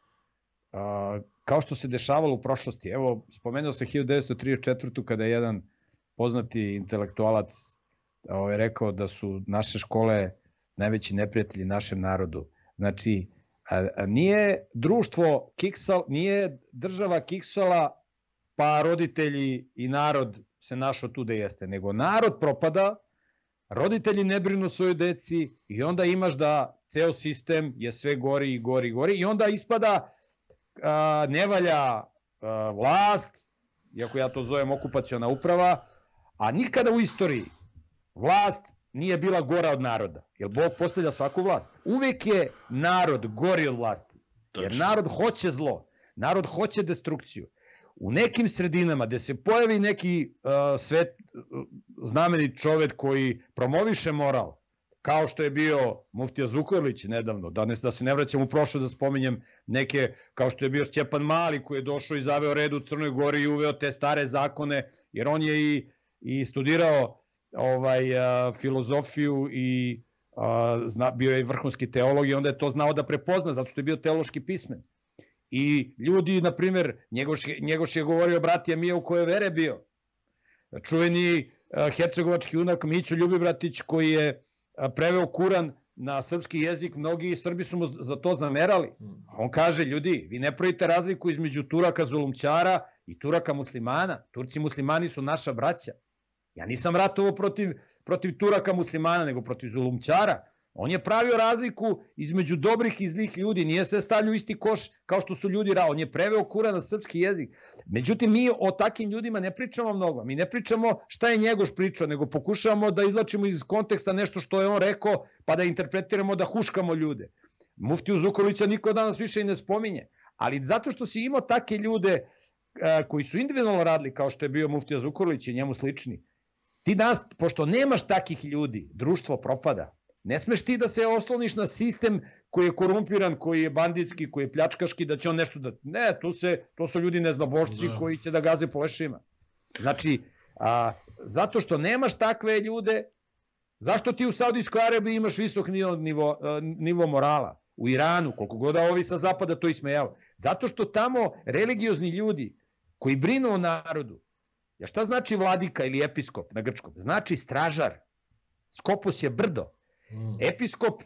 Speaker 1: a, kao što se dešavalo u prošlosti. Evo, spomenuo se hiljadu devetsto trideset četvrtu kada je jedan poznati intelektualac ovaj, rekao da su naše škole najveći neprijatelji našem narodu. Znači, a, a nije društvo kiksal, nije država kiksala, pa roditelji i narod se našao tu da jeste, nego narod propada, roditelji ne brinu svojoj deci i onda imaš da ceo sistem je sve gori i gori i gori i onda ispada a, ne valja a, vlast, iako ja to zovem okupaciona uprava, a nikada u istoriji vlast nije bila gora od naroda, jer Bog postavlja svaku vlast. Uvek je narod gori od vlasti, jer narod hoće zlo, narod hoće destrukciju. U nekim sredinama gde se pojavi neki uh, svet, uh, znameni čovek koji promoviše moral, kao što je bio muftija Zukorlić nedavno, da, ne, da se ne vraćam u prošlo da spominjem neke, kao što je bio Stjepan Mali koji je došao i zaveo red u Crnoj Gori i uveo te stare zakone, jer on je i, i studirao ovaj, a, filozofiju i a, zna, bio je vrhunski teolog i onda je to znao da prepozna, zato što je bio teološki pismen. I ljudi, na primjer, Njegoš, Njegoš je govorio bratija Mija u koje vere bio. Čuveni a, hercegovački junak Mićo Ljubibratić koji je a, preveo Kuran na srpski jezik, mnogi Srbi su mu za to zamerali. On kaže, ljudi, vi ne pravite razliku između Turaka zulumčara i Turaka muslimana. Turci muslimani su naša braća. Ja nisam ratovao protiv, protiv Turaka muslimana, nego protiv zulumčara. On je pravio razliku između dobrih i zlih ljudi, nije se stavljao isti koš kao što su ljudi rao. On je preveo Kuran na srpski jezik. Međutim, mi o takim ljudima ne pričamo mnogo. Mi ne pričamo šta je Njegoš pričao, nego pokušavamo da izvlačimo iz konteksta nešto što je on rekao, pa da interpretiramo, da huškamo ljude. Muftiju Zukorlića niko danas više i ne spominje. Ali zato što si imao take ljude a, koji su individualno radili, kao što je bio muftija Zukorlić i njemu slični, ti danas, pošto nemaš takih ljudi, društvo propada. Ne smeš ti da se osloniš na sistem koji je korumpiran, koji je banditski, koji je pljačkaški, da će on nešto da... Ne, to, se, to su ljudi neznabošci da. Koji će da gaze po lešima. Znači, a, zato što nemaš takve ljude, zašto ti u Saudijskoj Arabiji imaš visok nivo, nivo, nivo morala? U Iranu, koliko god da ovi sa zapada to ismejava. Zato što tamo religiozni ljudi koji brinu o narodu, ja šta znači vladika ili episkop na grčkom? Znači stražar. Skopos je brdo. Mm. Episkop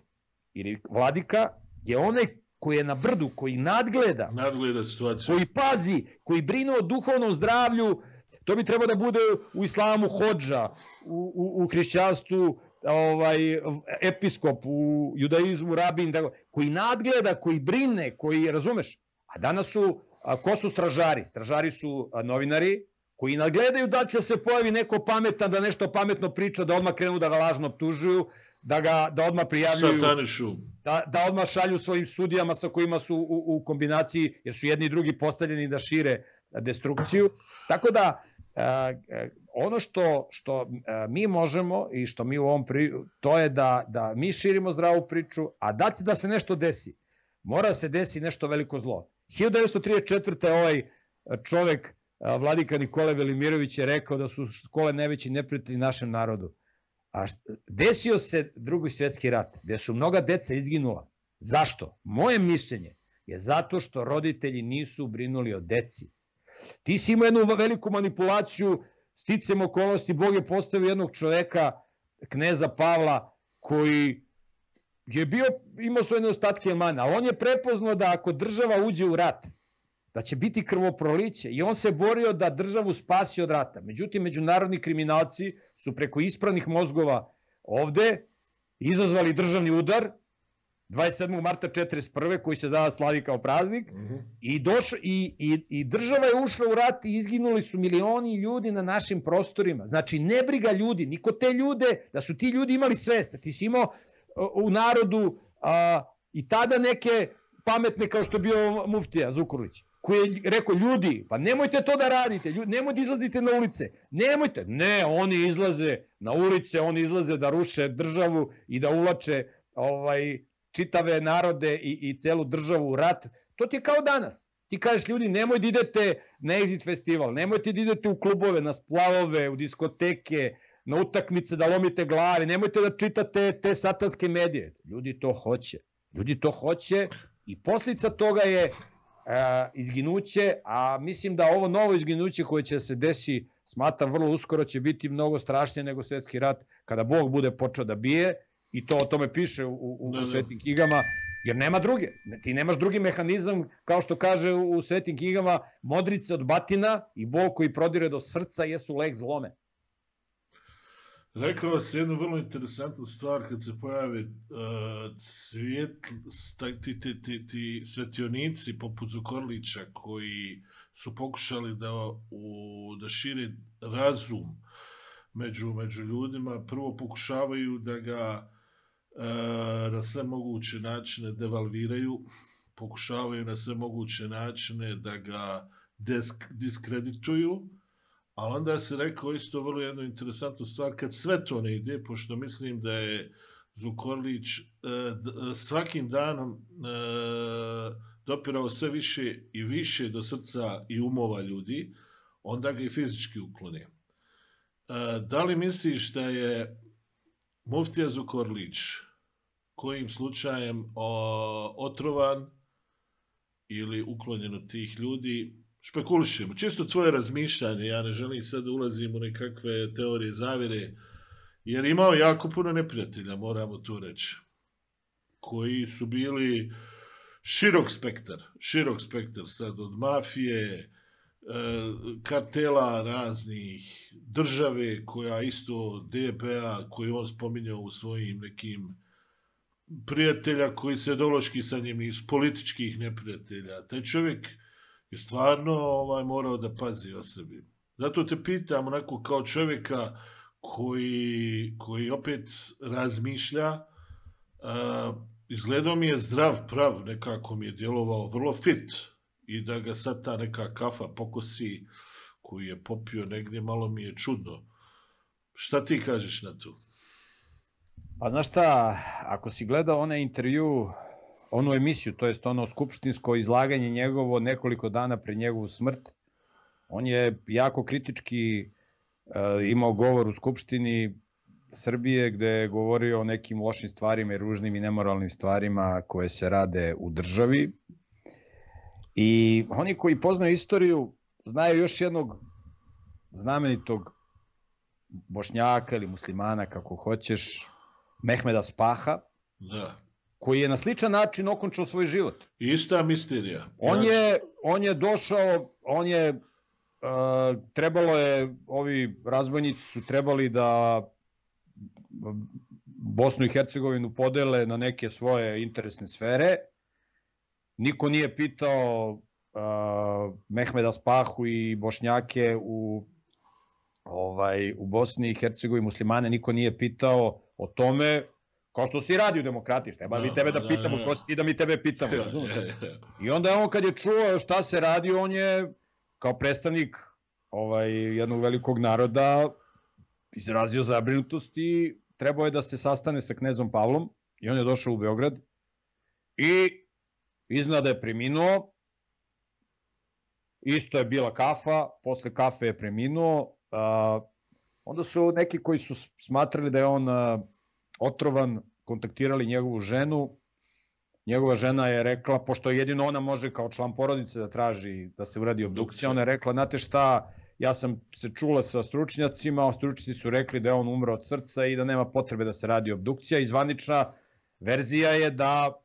Speaker 1: ili vladika je onaj koji je na brdu, koji nadgleda,
Speaker 2: nadgleda situaciju,
Speaker 1: koji pazi, koji brine o duhovnom zdravlju. To bi trebalo da bude u islamu hodža, u, u, u hrišćanstvu ovaj, episkop, u judaizmu rabin, da, koji nadgleda, koji brine, koji, razumeš? A danas su, a, ko su stražari? Stražari su a, novinari, koji nadgledaju da će se pojavi neko pametan, da nešto pametno priča, da odmah krenu da ga lažno optužuju, da ga da odmah prijavljuju, da, da odmah šalju svojim sudijama sa kojima su u, u kombinaciji, jer su jedni i drugi postavljeni da šire destrukciju. Tako da ono što, što mi možemo i što mi u ovom pri... to je da, da mi širimo zdravu priču, a da, da se nešto desi. Mora se desi nešto veliko zlo. hiljadu devetsto trideset četvrte. ovaj čovek, Vladika Nikole Velimirović, je rekao da su škole najveći neprijatelji našem narodu. A desio se Drugi svjetski rat, gde su mnoga deca izginula. Zašto? Moje mišljenje je zato što roditelji nisu brinuli o deci. Ti si imao jednu veliku manipulaciju, sticam okolnosti, Bog je postavio jednog čoveka, kneza Pavla, koji je bio, imao svoje nedostatke mana, ali on je prepoznao da ako država uđe u rat, da će biti krvoproliće, i on se borio da državu spasi od rata. Međutim, međunarodni kriminalci su preko ispranih mozgova ovde izazvali državni udar dvadeset sedmog marta četrdeset prve koji se danas slavi kao praznik, mm-hmm. i, došlo, i, i, i država je ušla u rat i izginuli su milioni ljudi na našim prostorima. Znači, ne briga ljudi, niko te ljude, da su ti ljudi imali svest, ti si imao u narodu a, i tada neke pametne kao što je bio muftija Zukorlić, koji je rekao, ljudi, pa nemojte to da radite, ljudi, nemojte izlazite na ulice, nemojte, ne, oni izlaze na ulice, oni izlaze da ruše državu i da uvlače ovaj, čitave narode i, i celu državu u rat. To ti je kao danas. Ti kažeš, ljudi, nemoj da idete na Exit festival, nemojte da idete u klubove, na splavove, u diskoteke, na utakmice, da lomite glave, nemojte da čitate te satanske medije. Ljudi to hoće. Ljudi to hoće i posljedica toga je e, izginuće, a mislim da ovo novo izginuće koje će se desi, smatram vrlo uskoro, će biti mnogo strašnije nego svjetski rat, kada Bog bude počeo da bije, i to o tome piše u, u, u svetim knjigama, jer nema druge. Ti nemaš drugi mehanizam, kao što kaže u svetim knjigama, modrice od batina i bol koji prodire do srca jesu lek zlome.
Speaker 2: Rekao si jednu vrlo interesantnu stvar kad se pojave uh, svijet, ti, ti, ti, ti svetionici poput Zukorlića koji su pokušali da, u, da šire razum među, među ljudima. Prvo pokušavaju da ga uh, na sve moguće načine devalviraju, pokušavaju na sve moguće načine da ga desk, diskredituju. Ali onda se rekao isto vrlo jednu interesantnu stvar, kad sve to ne ide, pošto mislim da je Zukorlić svakim danom dopirao sve više i više do srca i umova ljudi, onda ga i fizički uklone. Da li misliš da je muftija Zukorlić kojim slučajem otrovan ili uklonjen od tih ljudi? Špekulišemo, čisto tvoje razmišljanje, ja ne želim sad da ulazim u nekakve teorije zavire, jer imao jako puno neprijatelja, moramo tu reći, koji su bili širok spektar, širok spektar sad od mafije, kartela raznih, države koja isto D B A, koju on spominjao u svojim nekim prijatelja koji se ideološki sa njim nisu, političkih neprijatelja. Taj čovjek je stvarno ovaj, morao da pazi o sebi. Zato te pitam onako kao čovjeka koji, koji opet razmišlja, uh, izgledao mi je zdrav, prav, nekako mi je djelovao vrlo fit i da ga sad ta neka kafa pokosi koju je popio negdje, malo mi je čudno. Šta ti kažeš na to?
Speaker 1: Pa znaš šta, ako si gledao onaj intervju, onu emisiju, to jest ono skupštinsko izlaganje njegovo nekoliko dana pre njegovu smrt, on je jako kritički e, imao govor u Skupštini Srbije gde je govorio o nekim lošim stvarima i ružnim i nemoralnim stvarima koje se rade u državi. I oni koji poznaju istoriju znaju još jednog znamenitog Bošnjaka ili muslimana, kako hoćeš, Mehmeda Spaha,
Speaker 2: da,
Speaker 1: koji je na sličan način okončao svoj život.
Speaker 2: Ista misterija.
Speaker 1: On je, on je došao, on je, uh, trebalo je, ovi razbojnici su trebali da Bosnu i Hercegovinu podele na neke svoje interesne sfere. Niko nije pitao uh, Mehmeda Spahu i Bošnjake u, ovaj, u Bosni i Hercegovini, muslimane, niko nije pitao o tome, kao što si radi u demokratiji, šta je, ba mi tebe da pitamo, ko si ti da mi tebe pitamo, razumiješ? I onda on kad je čuo šta se radi, on je kao predstavnik ovaj, jednog velikog naroda izrazio zabrinutost i trebao je da se sastane sa knezom Pavlom i on je došao u Beograd i iznada je preminuo, isto je bila kafa, posle kafe je preminuo, a, onda su neki koji su smatrali da je on a, otrovan, kontaktirali njegovu ženu, njegova žena je rekla, pošto jedino ona može kao član porodice da traži da se uradi obdukcija, ona je rekla, znate šta, ja sam se čula sa stručnjacima, stručnjaci su rekli da je on umro od srca i da nema potrebe da se radi obdukcija i zvanična verzija je da,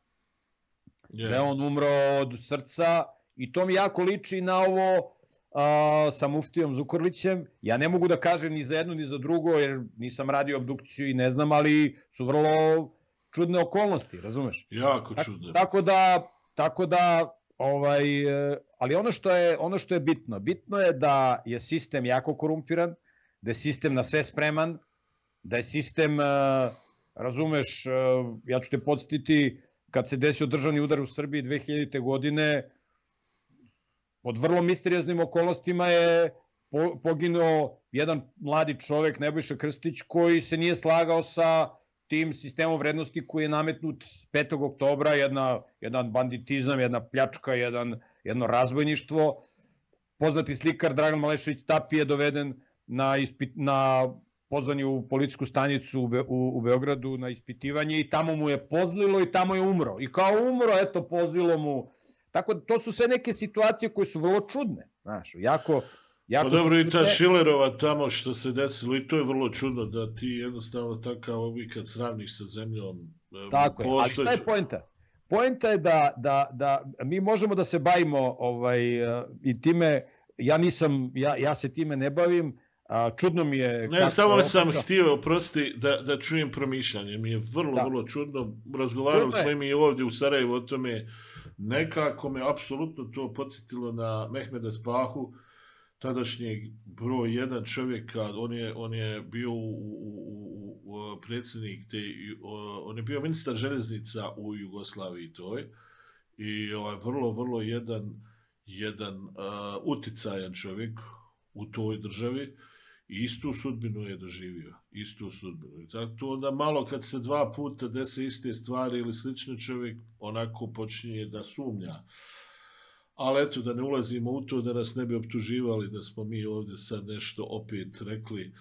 Speaker 1: yeah. da je on umro od srca i to mi jako liči na ovo a, sa muftijom Zukorlićem. Ja ne mogu da kažem ni za jedno ni za drugo jer nisam radio obdukciju i ne znam, ali su vrlo čudne okolnosti, razumeš?
Speaker 2: Jako čudne.
Speaker 1: Tako da, tako da ovaj, ali ono što je ono što je bitno, bitno je da je sistem jako korumpiran, da je sistem na sve spreman, da je sistem, razumeš, ja ću te podsjetiti, kad se desio državni udar u Srbiji dve hiljadite godine, pod vrlo misterioznim okolnostima je poginuo jedan mladi čovek, Nebojša Krstić, koji se nije slagao sa tim sistemom vrednosti koji je nametnut petog oktobra, jedna, jedan banditizam, jedna pljačka, jedan, jedno razbojništvo. Poznati slikar Dragan Malešević Tapi je doveden na, ispit, na pozvanje u policijsku stanicu u, Be, u, u Beogradu na ispitivanje i tamo mu je pozlilo i tamo je umro. I kao umro, eto, pozlilo mu. Tako da to su sve neke situacije koje su vrlo čudne. Znaš, jako...
Speaker 2: Pa dobro, i ta Šilerova tamo što se desilo, i to je vrlo čudno da ti jednostavno takav ovi kad sravniš sa zemljom.
Speaker 1: Tako je, ali šta je poenta? Poenta je da, da, da mi možemo da se bavimo ovaj, i time, ja nisam, ja, ja se time ne bavim, a čudno mi je...
Speaker 2: Ne, samo sam htio, oprosti, da, da čujem promišljanje, mi je vrlo, da. vrlo čudno, razgovarali smo mi ovdje u Sarajevu o tome, nekako me apsolutno to podsjetilo na Mehmeda Spahu, tadašnjeg broj jedan čovjeka, on je, on je bio u, u, u predsjednik, te, on je bio ministar željeznica u Jugoslaviji toj i ovaj, vrlo, vrlo jedan, jedan uh, uticajan čovjek u toj državi i istu sudbinu je doživio, istu sudbinu. Tako onda malo kad se dva puta dese iste stvari ili slični čovjek, onako počinje da sumnja. Ali eto, da ne ulazimo u to, da nas ne bi optuživali, da smo mi ovdje sad nešto opet rekli,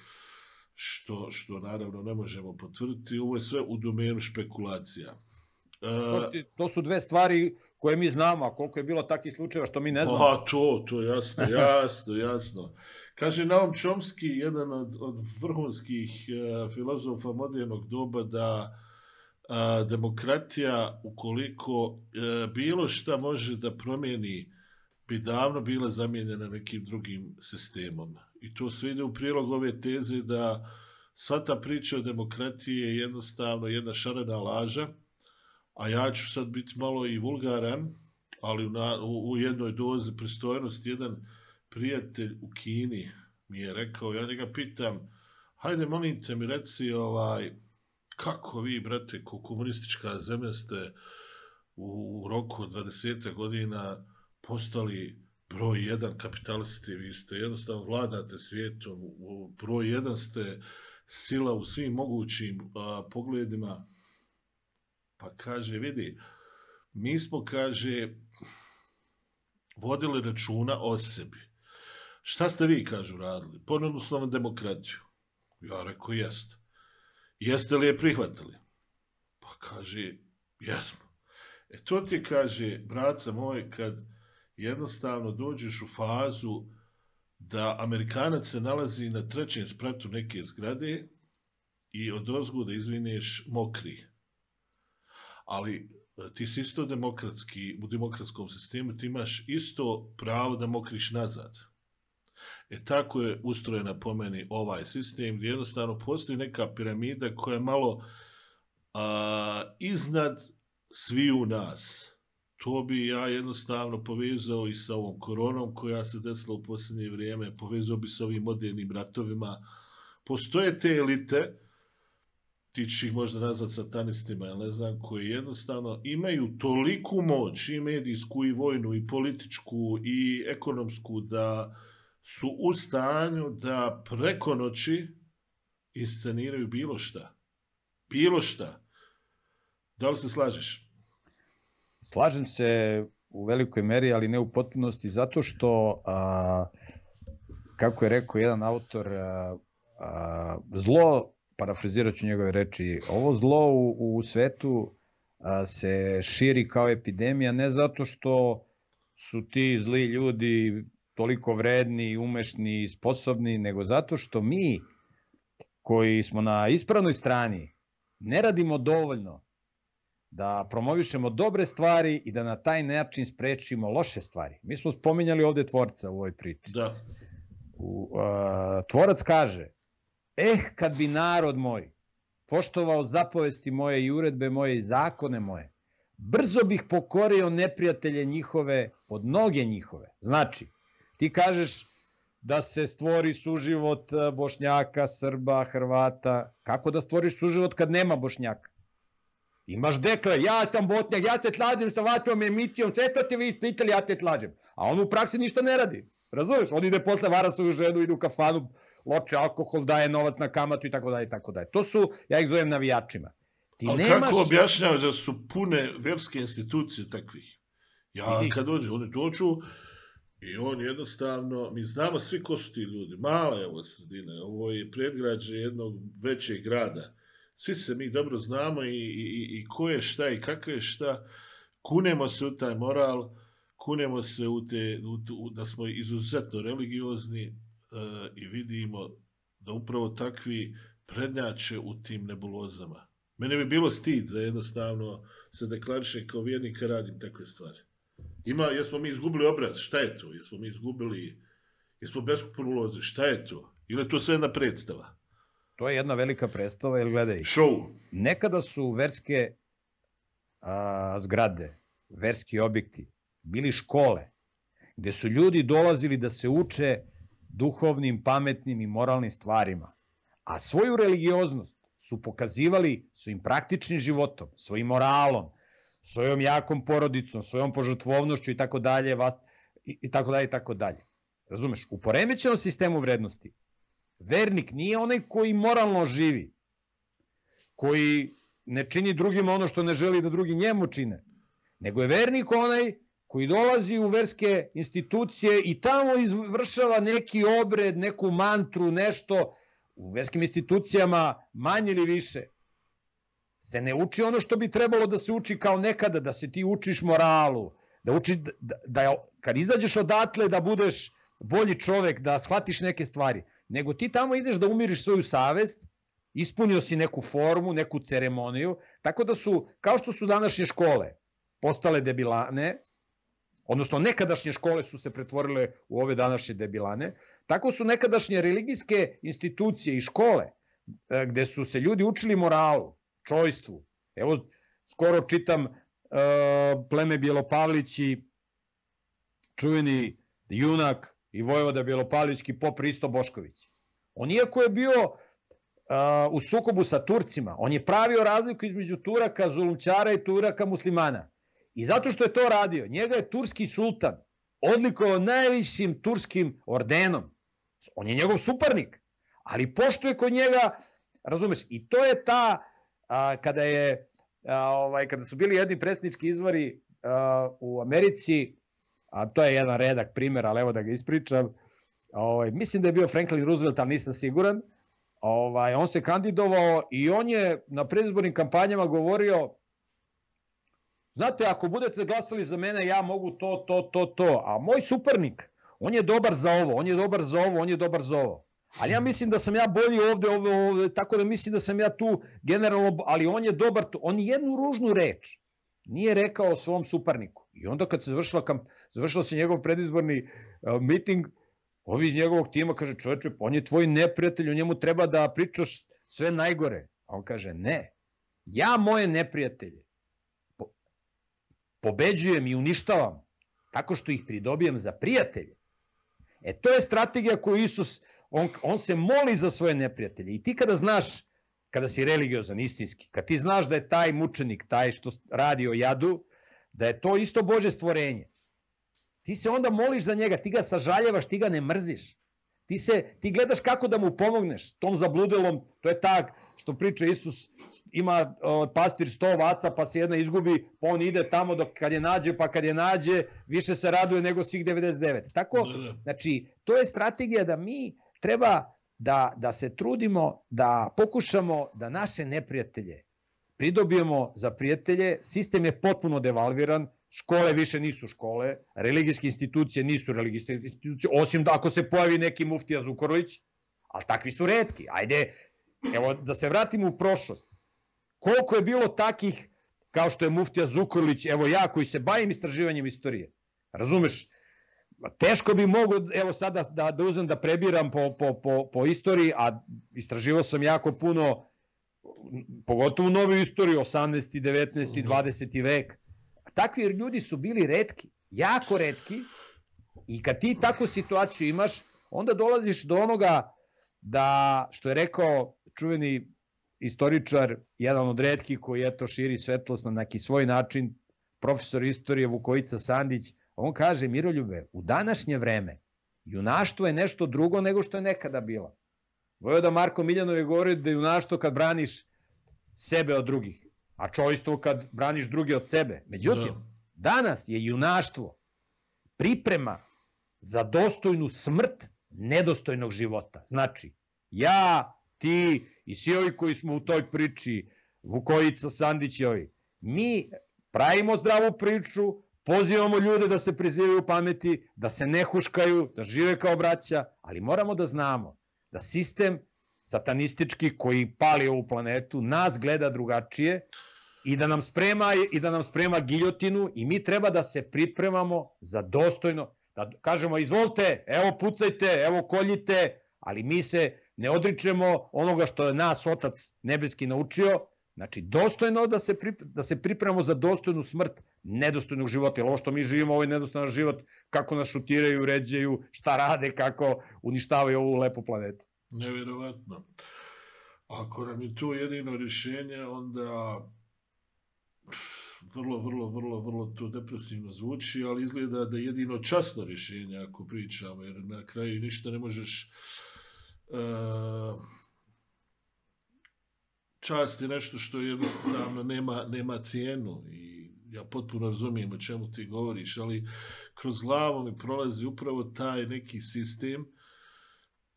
Speaker 2: što, što naravno ne možemo potvrditi. Ovo je sve u domenu špekulacija.
Speaker 1: To, to su dve stvari koje mi znamo, a koliko je bilo takvih slučajeva što mi ne znamo.
Speaker 2: Pa to, to jasno, jasno, jasno. Kaže Naum Chomsky, jedan od, od vrhunskih uh, filozofa modernog doba, da a, demokratija, ukoliko e, bilo šta može da promijeni, bi davno bila zamijenjena nekim drugim sistemom. I to sve ide u prilog ove teze da sva ta priča o demokratiji je jednostavno jedna šarena laža, a ja ću sad biti malo i vulgaran, ali u, na, u, u jednoj dozi pristojnosti. Jedan prijatelj u Kini mi je rekao, ja njega pitam, hajde molim te mi reci, ovaj, kako vi, brate, ko komunistička zemlja ste u roku od dvadeset godina postali broj jedan kapitalisti, vi ste jednostavno vladate svijetom, broj jedan ste sila u svim mogućim a, pogledima. Pa kaže, vidi, mi smo, kaže, vodili računa o sebi. Šta ste vi, kažu, radili? Ponudili smo vam demokratiju. Ja rekao, jeste. Jeste li je prihvatili? Pa kaže, jesmo. E to ti kaže, braca moj, kad jednostavno dođeš u fazu da Amerikanac se nalazi na trećem spratu neke zgrade i od ozgu da izvineš mokri. Ali ti si isto demokratski, u demokratskom sistemu ti imaš isto pravo da mokriš nazad. E tako je ustrojena po meni ovaj sistem, gdje jednostavno postoji neka piramida koja je malo a, iznad sviju nas. To bi ja jednostavno povezao i sa ovom koronom koja se desila u posljednje vrijeme, povezao bi s ovim modernim ratovima. Postoje te elite, ti ćeš ih možda nazvati satanistima, ja ne znam, koji jednostavno imaju toliku moć, i medijsku, i vojnu, i političku, i ekonomsku, da su u stanju da preko noći isceniraju bilo šta. Bilo šta. Da li se slažeš?
Speaker 1: Slažem se u velikoj meri, ali ne u potpunosti, zato što, a, kako je rekao jedan autor, a, a, zlo, parafrazirat ću njegove reči, ovo zlo u, u svetu a, se širi kao epidemija, ne zato što su ti zli ljudi toliko vredni, umešni i sposobni, nego zato što mi, koji smo na ispravnoj strani, ne radimo dovoljno da promovišemo dobre stvari i da na taj način sprečimo loše stvari. Mi smo spominjali ovde tvorca u ovoj priči.
Speaker 2: Da.
Speaker 1: U, a, tvorac kaže, eh, kad bi narod moj poštovao zapovesti moje i uredbe moje i zakone moje, brzo bih pokorio neprijatelje njihove pod noge njihove. Znači, ti kažeš da se stvori suživot Bošnjaka, Srba, Hrvata. Kako da stvoriš suživot kad nema Bošnjaka? Imaš dekle, ja sam Botnjak, ja te tlađem sa vatrom emitijom, sve to te vi pitali, ja te tlađem. A on u praksi ništa ne radi. Razumeš? On ide posle, vara svoju ženu, ide u kafanu, loče alkohol, daje novac na kamatu i tako dalje i tako dalje. To su, ja ih zovem navijačima. Ti
Speaker 2: Ali
Speaker 1: nemaš...
Speaker 2: kako objašnjavaš da su pune verske institucije takvih? Ja kad dođe, oni dođu i on jednostavno, mi znamo svi ko su ti ljudi, mala je ovo sredina, ovo je predgrađe jednog većeg grada. Svi se mi dobro znamo i, i, i ko je šta i kako je šta. Kunemo se u taj moral, kunemo se u te, u, u, da smo izuzetno religiozni uh, i vidimo da upravo takvi prednjače u tim nebulozama. Mene bi bilo stid da jednostavno se deklariše kao vjernika radim takve stvari. Ima, jesmo mi izgubili obraz, šta je to? Jesmo mi izgubili, jesmo beskupulozi, šta je to? Ili je to sve jedna predstava?
Speaker 1: To je jedna velika predstava, jer gledaj,
Speaker 2: show.
Speaker 1: Nekada su verske a, zgrade, verski objekti, bili škole, gde su ljudi dolazili da se uče duhovnim, pametnim i moralnim stvarima, a svoju religioznost su pokazivali svojim praktičnim životom, svojim moralom, svojom jakom porodicom, svojom požrtvovnošću i tako dalje, i tako dalje, i tako dalje. Razumeš? U poremećenom sistemu vrednosti vernik nije onaj koji moralno živi, koji ne čini drugima ono što ne želi da drugi njemu čine, nego je vernik onaj koji dolazi u verske institucije i tamo izvršava neki obred, neku mantru, nešto. U verskim institucijama manje ili više se ne uči ono što bi trebalo da se uči kao nekada, da se ti učiš moralu, da učiš da, da kad izađeš odatle da budeš bolji čovek, da shvatiš neke stvari, nego ti tamo ideš da umiriš svoju savest, ispunio si neku formu, neku ceremoniju, tako da su, kao što su današnje škole postale debilane, odnosno nekadašnje škole su se pretvorile u ove današnje debilane, tako su nekadašnje religijske institucije i škole, gde su se ljudi učili moralu, čojstvu. Evo, skoro čitam uh, pleme Bjelopavlići, čuveni junak i vojvoda Bjelopavlićki pop Risto Bošković. On iako je bio uh, u sukobu sa Turcima, on je pravio razliku između Turaka, zulumčara i Turaka muslimana. I zato što je to radio, njega je turski sultan odlikovao najvišim turskim ordenom. On je njegov suparnik, ali pošto je kod njega, razumeš, i to je ta, a, kada je, a, ovaj, kada su bili jedni predsjednički izbori a, u Americi, a to je jedan redak primjer, ali evo da ga ispričam, ovaj, mislim da je bio Franklin Roosevelt, ali nisam siguran, ovaj, on se kandidovao i on je na predizbornim kampanjama govorio: znate, ako budete glasali za mene, ja mogu to, to, to, to, a moj suparnik, on je dobar za ovo, on je dobar za ovo, on je dobar za ovo. Ali ja mislim da sam ja bolji ovde, ovde, ovde, tako da mislim da sam ja tu generalno, ali on je dobar tu. On jednu ružnu reč nije rekao svom suparniku. I onda kad se završila, završila se njegov predizborni uh, miting, ovi iz njegovog tima kaže: čoveče, on je tvoj neprijatelj, o njemu treba da pričaš sve najgore. A on kaže: ne, ja moje neprijatelje po, pobeđujem i uništavam tako što ih pridobijem za prijatelje. E to je strategija koju Isus, on, on se moli za svoje neprijatelje. I ti kada znaš, kada si religiozan, istinski, kad ti znaš da je taj mučenik, taj što radi o jadu, da je to isto Božje stvorenje, ti se onda moliš za njega, ti ga sažaljevaš, ti ga ne mrziš. Ti, se, ti gledaš kako da mu pomogneš tom zabludelom, to je tak što priča Isus, ima o, pastir sto ovaca pa se jedna izgubi, pa on ide tamo dok kad je nađe, pa kad je nađe više se raduje nego svih devedeset devet. Tako, znači, to je strategija da mi treba da, da se trudimo, da pokušamo da naše neprijatelje pridobijemo za prijatelje. Sistem je potpuno devalviran, škole više nisu škole, religijske institucije nisu religijske institucije, osim da ako se pojavi neki muftija Zukorlić, ali takvi su retki. Ajde, evo da se vratimo u prošlost. Koliko je bilo takih, kao što je muftija Zukorlić, evo ja koji se bavim istraživanjem istorije, razumeš, teško bi mogo, evo sada da, da uzem da prebiram po, po, po, po istoriji, a istraživao sam jako puno, pogotovo novu istoriju, osamnaesti, devetnaesti, dvadeseti vek. Takvi ljudi su bili retki, jako retki, i kad ti takvu situaciju imaš, onda dolaziš do onoga da, što je rekao čuveni istoričar, jedan od retkih koji eto širi svetlost na neki svoj način, profesor istorije Vukojica Sandić, on kaže: Miroljube, u današnje vreme junaštvo je nešto drugo nego što je nekada bilo. Vojvoda Marko Miljanov je govorio da je junaštvo kad braniš sebe od drugih, a čojstvo kad braniš druge od sebe. Međutim, danas je junaštvo priprema za dostojnu smrt nedostojnog života. Znači, ja, ti i svi ovi koji smo u toj priči, Vukojica, Sandić i ovi, mi pravimo zdravu priču, pozivamo ljude da se prizivaju pameti, da se ne huškaju, da žive kao braća, ali moramo da znamo da sistem satanistički koji pali ovu planetu nas gleda drugačije i da nam sprema, i da nam sprema giljotinu, i mi treba da se pripremamo za dostojno, da kažemo izvolite, evo pucajte, evo koljite, ali mi se ne odričemo onoga što je nas Otac Nebeski naučio, znači dostojno da se, da se pripremamo za dostojnu smrt nedostojnog života, jer ovo što mi živimo, ovo je nedostojan život, kako nas šutiraju, ređaju, šta rade, kako uništavaju ovu lepu planetu.
Speaker 2: Nevjerovatno. Ako nam je to jedino rješenje, onda vrlo, vrlo, vrlo, vrlo to depresivno zvuči, ali izgleda da je jedino časno rješenje ako pričamo, jer na kraju ništa ne možeš... Uh, čast je nešto što jednostavno nema, nema cijenu, i ja potpuno razumijem o čemu ti govoriš, ali kroz glavu mi prolazi upravo taj neki sistem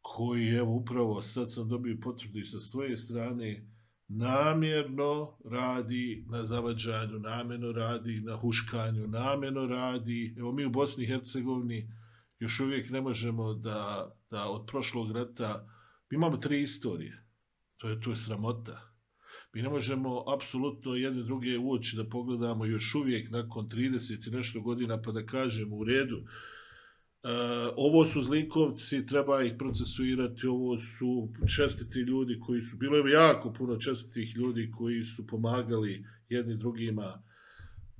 Speaker 2: koji, evo, upravo sad sam dobio potvrdu i sa svoje strane, namjerno radi na zavađanju, namjerno radi na huškanju, namjerno radi. Evo, mi u Bosni i Hercegovini još uvijek ne možemo da, da od prošlog rata, mi imamo tri istorije, to je, to je sramota. Mi ne možemo apsolutno jedne druge u oči da pogledamo još uvijek nakon trideset i nešto godina pa da kažemo u redu, Uh, ovo su zlikovci, treba ih procesuirati, ovo su čestiti ljudi koji su, bilo je jako puno čestitih ljudi koji su pomagali jedni drugima.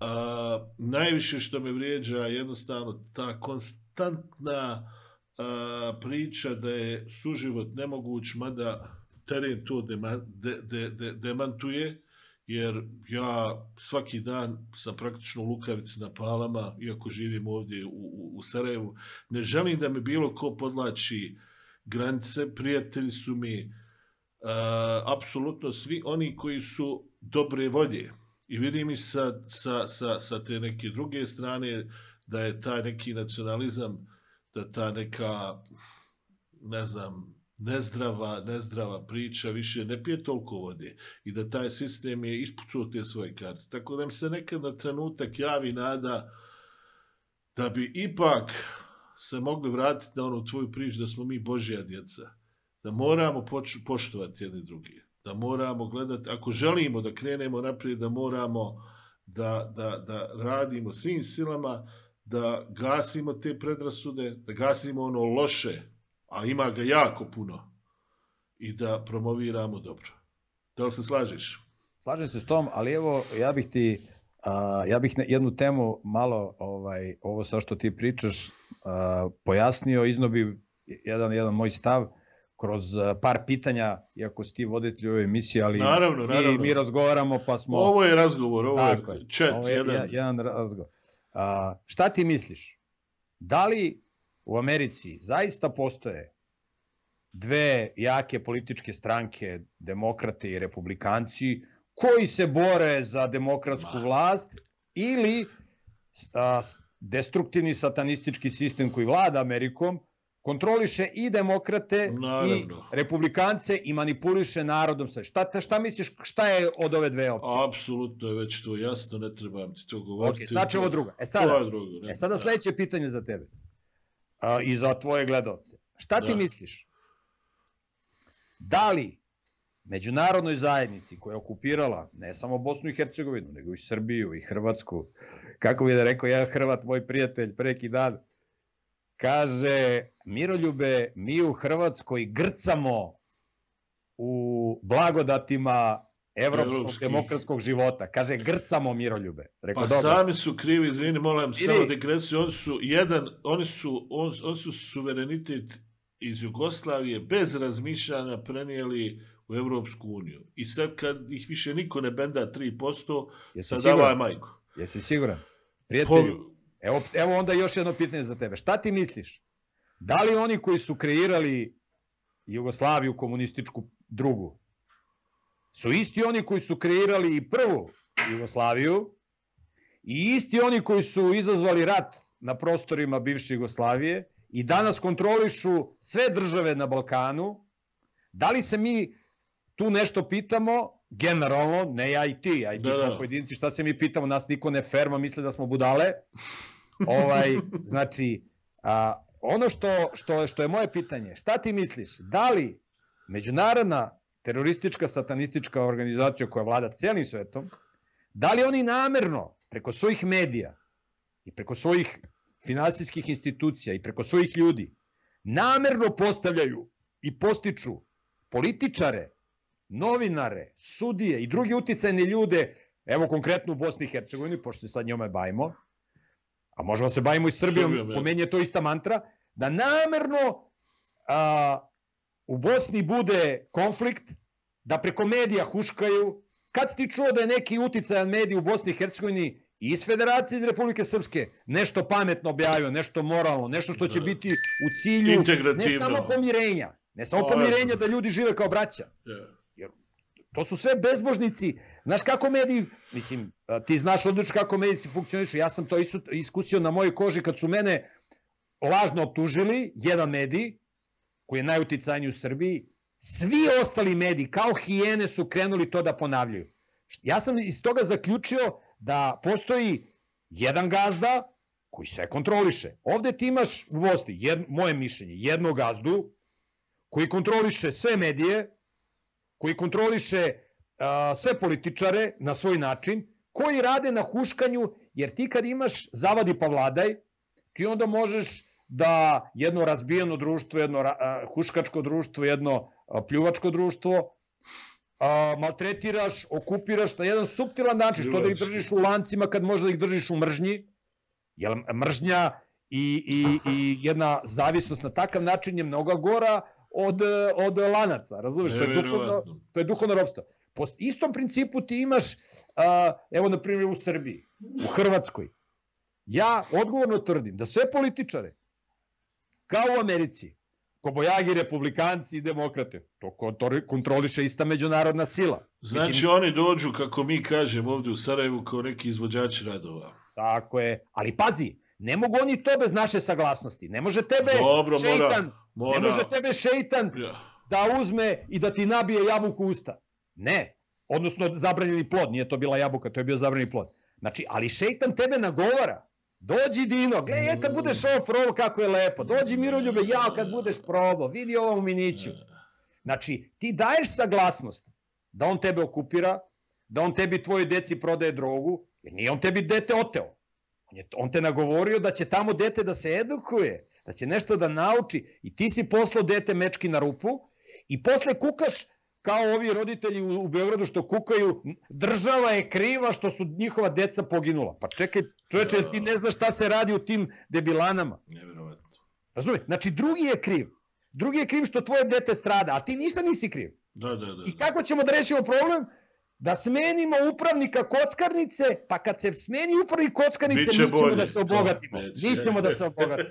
Speaker 2: Uh, najviše što me vrijeđa jednostavno ta konstantna uh, priča da je suživot nemoguć, mada teren to dema, de, de, de, demantuje, jer ja svaki dan sam praktično u Lukavici na Palama, iako živim ovdje u, u, u Sarajevu. Ne želim da mi bilo ko podlači granice, prijatelji su mi uh, apsolutno svi oni koji su dobre volje. I vidim i sa, sa, sa, sa te neke druge strane da je taj neki nacionalizam, da ta neka, ne znam, nezdrava, nezdrava priča više ne pije toliko vode i da taj sistem je ispucao te svoje karte. Tako da mi se nekad na trenutak javi nada da bi ipak se mogli vratiti na onu tvoju priču da smo mi Božja djeca, da moramo poštovati jedni drugi, da moramo gledati, ako želimo da krenemo naprijed, da moramo da, da, da radimo svim silama, da gasimo te predrasude, da gasimo ono loše, a ima ga jako puno, i da promoviramo dobro. Da li se slažeš?
Speaker 1: Slažem se s tom, ali evo, ja bih ti, uh, ja bih jednu temu malo, ovaj, ovo sa što ti pričaš, uh, pojasnio, iznobi jedan, jedan moj stav kroz par pitanja, iako si ti voditelj ove emisije, ali
Speaker 2: naravno, naravno.
Speaker 1: Mi, mi razgovaramo pa smo...
Speaker 2: Ovo je razgovor, ovo je chat.
Speaker 1: Ovo je jedan, jedan razgovor. Uh, šta ti misliš? da li u Americi zaista postoje dve jake političke stranke, demokrate i republikanci, koji se bore za demokratsku vlast ili a, destruktivni satanistički sistem koji vlada Amerikom kontroliše i demokrate Naravno. i republikance i manipuliše narodom. Šta, šta misliš, šta je od ove dve opcije?
Speaker 2: Apsolutno je već to jasno, ne trebam ti to govoriti.
Speaker 1: Okay, znači ovo drugo. E sada, drugo, e sada sledeće pitanje za tebe a, i za tvoje gledalce. Šta ti da. misliš? Da li međunarodnoj zajednici koja je okupirala ne samo Bosnu i Hercegovinu, nego i Srbiju i Hrvatsku, kako bi da rekao jedan Hrvat, moj prijatelj, preki dan, kaže, Miroljube, mi u Hrvatskoj grcamo u blagodatima evropskog Evropski. demokratskog života. Kaže, grcamo, Miroljube. Rekao,
Speaker 2: pa dobro. Sami su krivi, izvini, molim, samo digresiju, oni su jedan, oni su, on, oni su suverenitet iz Jugoslavije bez razmišljanja prenijeli u Evropsku uniju. I sad kad ih više niko ne benda tri posto, sad davaj majku.
Speaker 1: Jesi siguran? Prijatelju, po... evo, evo onda još jedno pitanje za tebe. Šta ti misliš? Da li oni koji su kreirali Jugoslaviju komunističku drugu, su isti oni koji su kreirali i prvu Jugoslaviju i isti oni koji su izazvali rat na prostorima bivše Jugoslavije i danas kontrolišu sve države na Balkanu? Da li se mi tu nešto pitamo, generalno, ne ja i ti, a i ti da, kao pojedinci, šta se mi pitamo, nas niko ne ferma, misle da smo budale. ovaj, znači, a, ono što, što, što je moje pitanje, šta ti misliš, da li međunarodna teroristička satanistička organizacija koja vlada celim svetom, da li oni namerno preko svojih medija i preko svojih finansijskih institucija i preko svojih ljudi namerno postavljaju i postiču političare, novinare, sudije i drugi uticajne ljude, evo konkretno u Bosni i Hercegovini, pošto se sad njome bavimo, a možemo se bavimo i Srbijom, Srbijom po meni je to ista mantra, da namerno a, u Bosni bude konflikt, da preko medija huškaju. Kad si ti čuo da je neki uticajan medij u Bosni i Hercegovini i iz Federacije iz Republike Srpske nešto pametno objavio, nešto moralno, nešto što će biti u cilju ne samo pomirenja, ne samo pomirenja da ljudi žive kao braća. Jer to su sve bezbožnici. Znaš kako mediji, mislim, ti znaš odlično kako mediji funkcionišu, ja sam to iskusio na mojoj koži kad su mene lažno optužili, jedan medij, koji je najuticajniji u Srbiji, svi ostali mediji, kao hijene, su krenuli to da ponavljaju. Ja sam iz toga zaključio da postoji jedan gazda koji sve kontroliše. Ovde ti imaš u Bosni, jed, moje mišljenje, jednog gazdu koji kontroliše sve medije, koji kontroliše uh, sve političare na svoj način, koji rade na huškanju, jer ti kad imaš zavadi pa vladaj, ti onda možeš da jedno razbijeno društvo, jedno uh, huškačko društvo, jedno uh, pljuvačko društvo uh, maltretiraš, okupiraš na jedan suptilan način, što da ih držiš u lancima kad možda ih držiš u mržnji, jer mržnja i, i, i jedna zavisnost na takav način je mnogo gora od, od lanaca, razumiješ, to je duhovno, to je duhovno ropstvo. Po istom principu ti imaš, uh, evo na primjer u Srbiji, u Hrvatskoj, ja odgovorno tvrdim da sve političare, kao u Americi, kobojagi, republikanci i demokrate, to kontroliše ista međunarodna sila.
Speaker 2: Znači Mislim, oni dođu, kako mi kažemo ovdje u Sarajevu, kao neki izvođači radova.
Speaker 1: Tako je, ali pazi, ne mogu oni to bez naše saglasnosti. Ne može tebe
Speaker 2: Dobro,
Speaker 1: šeitan,
Speaker 2: mora, mora.
Speaker 1: ne može tebe šeitan
Speaker 2: ja.
Speaker 1: da uzme i da ti nabije jabuku u usta. Ne, odnosno zabranjeni plod, nije to bila jabuka, to je bio zabranjeni plod. Znači, ali šeitan tebe nagovara. Dođi Dino, gledaj kad budeš ovo probao kako je lepo. Dođi Miroljube, jao kad budeš probao, vidi ovo u miniću. Znači, ti daješ saglasnost da on tebe okupira, da on tebi tvojoj deci prodaje drogu, jer nije on tebi dete oteo. On, je, on te nagovorio da će tamo dete da se edukuje, da će nešto da nauči i ti si poslao dete mečki na rupu i posle kukaš kao ovi roditelji u, u Beogradu što kukaju, država je kriva što su njihova deca poginula. Pa čekaj, čoveče, ti ne znaš šta se radi u tim debilanama.
Speaker 2: Nevjerovatno.
Speaker 1: Razumije? Znači, drugi je kriv. Drugi je kriv što tvoje dete strada, a ti ništa nisi kriv.
Speaker 2: Da, da, da.
Speaker 1: I kako ćemo da rešimo problem?
Speaker 3: da smenimo upravnika kockarnice, pa kad se smeni upravnik kockarnice,
Speaker 2: Biće
Speaker 3: mi ćemo
Speaker 2: bolje.
Speaker 3: da se obogatimo.
Speaker 2: To,
Speaker 3: mi ćemo da se obogatimo.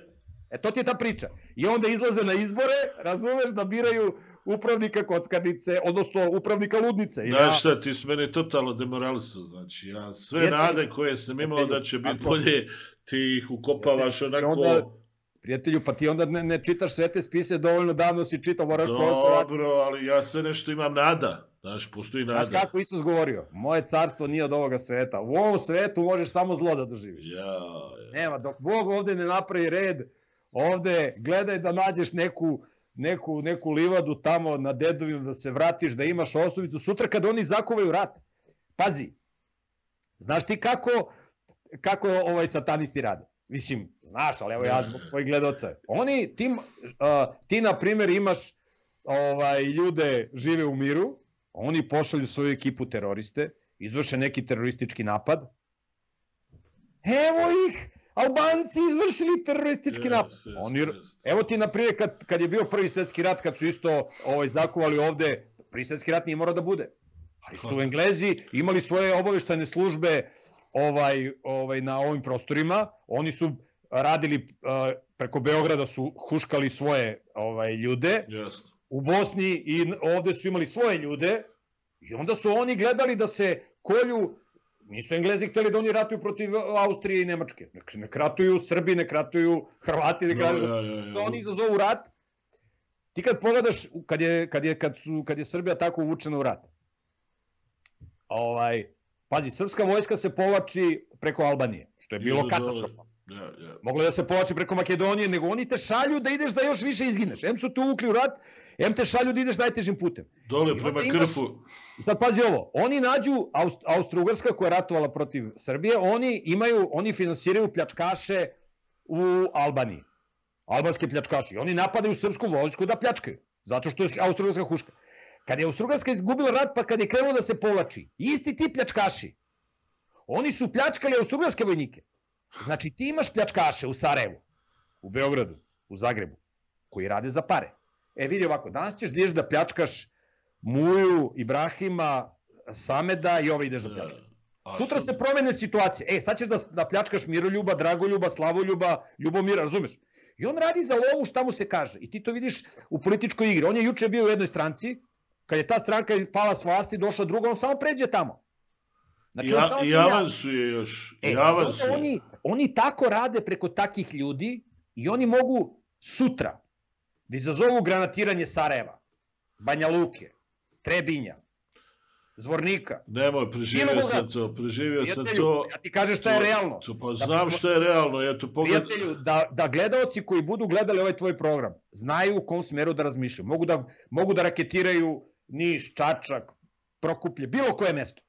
Speaker 3: E, to ti je ta priča. I onda izlaze na izbore, razumeš, da biraju upravnika kockarnice, odnosno upravnika ludnice.
Speaker 2: Znaš ja... šta, ti si mene totalno demoralisao, znači, ja sve prijatelju, nade koje sam imao prijatelju, da će biti bolje, ti ih ukopavaš onako...
Speaker 3: Onda, prijatelju, pa ti onda ne, ne čitaš sve te spise, dovoljno davno si čitao, moraš posle...
Speaker 2: Dobro, ali ja sve nešto imam nada. Znaš, postoji nada.
Speaker 3: Znaš kako Isus govorio? Moje carstvo nije od ovoga sveta. U ovom svetu možeš samo zlo da doživiš.
Speaker 2: Ja, ja.
Speaker 3: Nema, dok Bog ovde ne napravi red, ovde gledaj da nađeš neku, neku, neku livadu tamo na dedovinu, da se vratiš, da imaš osnovicu. Sutra kad oni zakuvaju rat, pazi, znaš ti kako, kako ovaj satanisti rade? Mislim, znaš, ali evo ja zbog tvojih gledoca. Oni, ti, uh, ti na primjer imaš ovaj, ljude žive u miru, oni pošalju svoju ekipu teroriste, izvrše neki teroristički napad. Evo ih, Albanci izvršili teroristički yes, napad. Yes, oni, yes. Evo ti, na primjer, kad, kad je bio prvi svjetski rat, kad su isto ovaj, zakuvali ovde, prvi svjetski rat nije morao da bude. Ali su Englezi imali svoje obaveštajne službe ovaj, ovaj, na ovim prostorima. Oni su radili uh, preko Beograda, su huškali svoje ovaj, ljude.
Speaker 2: Yes.
Speaker 3: U Bosni i ovde su imali svoje ljude i onda su oni gledali da se kolju, nisu Englezi hteli da oni ratuju protiv Austrije i Nemačke, ne ratuju Srbi, ne ratuju Hrvati, ne ratuju, no, ja, ja, ja. Da oni izazovu rat. Ti kad pogledaš, kad je, kad je, kad su, kad je Srbija tako uvučena u rat, ovaj, pazi, srpska vojska se povlači preko Albanije, što je bilo katastrofa.
Speaker 2: Yeah, yeah.
Speaker 3: Moglo da se povlači preko Makedonije, nego oni te šalju da ideš da još više izgineš. Em su te uvukli u rat, em te šalju da ideš najtežim putem.
Speaker 2: Dole prema Krfu.
Speaker 3: Sad pazi ovo, oni nađu Aust Austro-Ugrska koja je ratovala protiv Srbije, oni imaju, oni finansiraju pljačkaše u Albaniji. Albanske pljačkaše. I oni napadaju srpsku vojsku da pljačkaju, zato što je Austro-Ugrska huška. Kad je Austro-Ugrska izgubila rat, pa kad je krenulo da se povlači, isti ti pljačkaši, oni su pljačkali Austro-Ugrske vojnike. Znači ti imaš pljačkaše u Sarajevu, u Beogradu, u Zagrebu, koji rade za pare. E vidi ovako, danas ćeš da ideš da pljačkaš Muju, Ibrahima, Sameda i ove ideš da pljačkaš. Sutra se promene situacije. E, sad ćeš da, da pljačkaš Miroljuba, Dragoljuba, Slavoljuba, Ljubomira, razumeš? I on radi za lovu šta mu se kaže. I ti to vidiš u političkoj igri. On je juče bio u jednoj stranci, kad je ta stranka pala s vlasti, došla druga, on samo pređe tamo.
Speaker 2: Znači, ja, I avansu je još.
Speaker 3: E,
Speaker 2: avansu je.
Speaker 3: Oni, oni tako rade preko takih ljudi i oni mogu sutra da izazovu granatiranje Sarajeva, Banja Luke, Trebinja, Zvornika.
Speaker 2: Nemoj, preživio sam to, preživio sam to.
Speaker 3: Ja ti kažeš šta je realno.
Speaker 2: To, pa znam šta je realno, eto pogled...
Speaker 3: Prijatelju, da, da gledaoci koji budu gledali ovaj tvoj program, znaju u kom smeru da razmišljaju. Mogu da, mogu da raketiraju Niš, Čačak, Prokuplje, bilo koje mesto.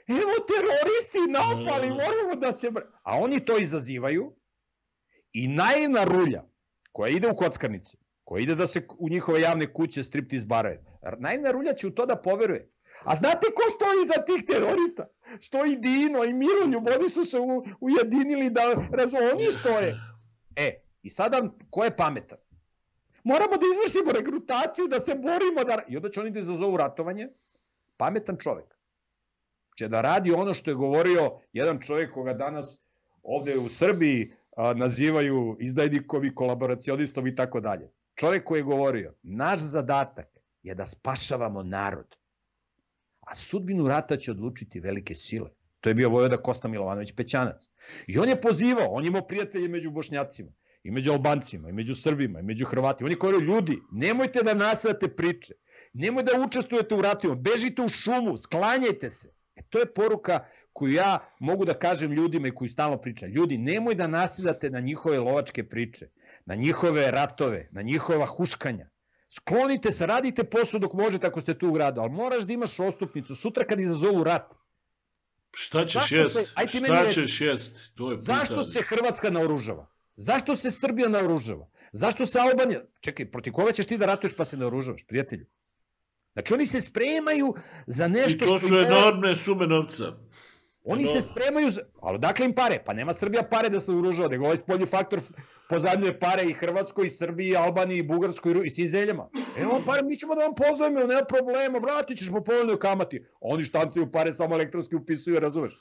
Speaker 3: Evo teroristi napali, moramo da se... A oni to izazivaju i naivna rulja koja ide u kockarnice, koja ide da se u njihove javne kuće striptiz barove, naivna rulja će u to da poveruje. A znate ko stoji iza tih terorista? Stoji Dino i Miroljub, oni su se ujedinili da razum, oni stoje. E, i sada ko je pametan? Moramo da izvršimo regrutaciju, da se borimo, da... I onda će oni da izazovu ratovanje. Pametan čovek će da radi ono što je govorio jedan čovjek koga danas ovde u Srbiji a, nazivaju izdajnikom i kolaboracionistom i tako dalje. Čovjek koji je govorio, naš zadatak je da spašavamo narod, a sudbinu rata će odlučiti velike sile. To je bio vojvoda Kosta Milovanović Pećanac. I on je pozivao, on je imao prijatelje među Bošnjacima, i među Albancima, i među Srbima, i među Hrvatima. On je govorio, ljudi, nemojte da nasadate priče, nemojte da učestvujete u ratovima, bežite u šumu, sklanjajte se. E, to je poruka koju ja mogu da kažem ljudima i koju stalno pričam. Ljudi, nemoj da nasedate na njihove lovačke priče, na njihove ratove, na njihova huškanja. Sklonite se, radite posao dok možete ako ste tu u gradu, ali moraš da imaš ostupnicu sutra kad izazovu rat.
Speaker 2: Šta ćeš jest? Šta ćeš jest?
Speaker 3: Zašto se Hrvatska naoružava? Zašto se Srbija naoružava? Zašto se Albanija... Čekaj, protiv koga ćeš ti da ratuješ pa se naoružavaš, prijatelju? Znači oni se spremaju za nešto što...
Speaker 2: I to su enormne sume novca.
Speaker 3: Oni
Speaker 2: no.
Speaker 3: se spremaju, za... ali odakle im pare? Pa nema Srbija pare da se uružava, nego ovaj spoljni faktor pozajmljuje pare i Hrvatskoj, i Srbiji, i Albaniji, i Bugarskoj, i svim zemljama. Evo pare, mi ćemo da vam pozajmimo, nema problema, vratit ćeš po povoljnoj kamati. Oni štancaju pare, samo elektronski upisuju, razumeš?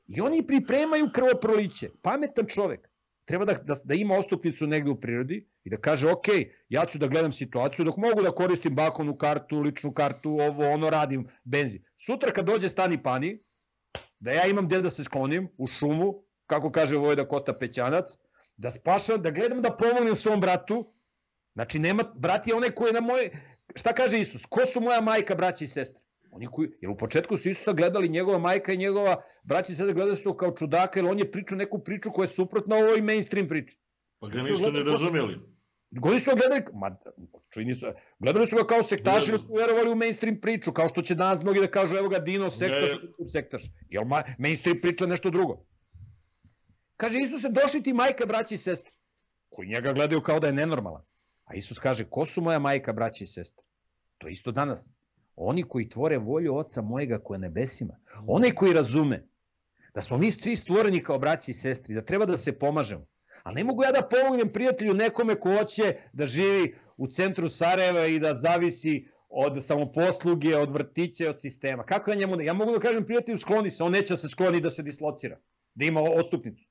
Speaker 3: I oni pripremaju krvoproliće. Pametan čovek treba da, da, da ima ostupnicu negde u prirodi i da kaže, ok, ja ću da gledam situaciju dok mogu da koristim bankovnu kartu, ličnu kartu, ovo, ono, radim benzin. Sutra kad dođe stani pani, da ja imam gde da se sklonim, u šumu, kako kaže Vojvoda Kosta Pećanac, da spašam, da gledam da pomognem svom bratu. Znači, nema, brat je onaj koji je na moje... Šta kaže Isus? Ko su moja majka, braća i sestre? Oni koji, jer u početku su Isusa gledali, njegova majka i njegova braća i sestre gledali su kao čudaka, jer on je pričao neku priču koja je suprotna ovoj mainstream priči.
Speaker 2: Pa ga nisu ne razumeli.
Speaker 3: Oni su gledali, ma, čini su, gledali su ga kao sektaši, ili su verovali u mainstream priču, kao što će danas mnogi da kažu, evo ga Dino, sektaš, ne. sektaš. Jer ma, mainstream priča nešto drugo. Kaže, Isuse, došli ti majka, braća i sestre, koji njega gledaju kao da je nenormalan. A Isus kaže, ko su moja majka, braća i sestre? To je isto danas. Oni koji tvore volju Oca mojega koja je nebesima. Onaj koji razume da smo mi svi stvoreni kao braći i sestri, da treba da se pomažemo. Ali ne mogu ja da pomognem prijatelju nekome ko hoće da živi u centru Sarajeva i da zavisi od samoposluge, od vrtića, od sistema. Kako ja njemu... Ja mogu da kažem prijatelju skloni se, on neće da se skloni da se dislocira, da ima odstupnicu.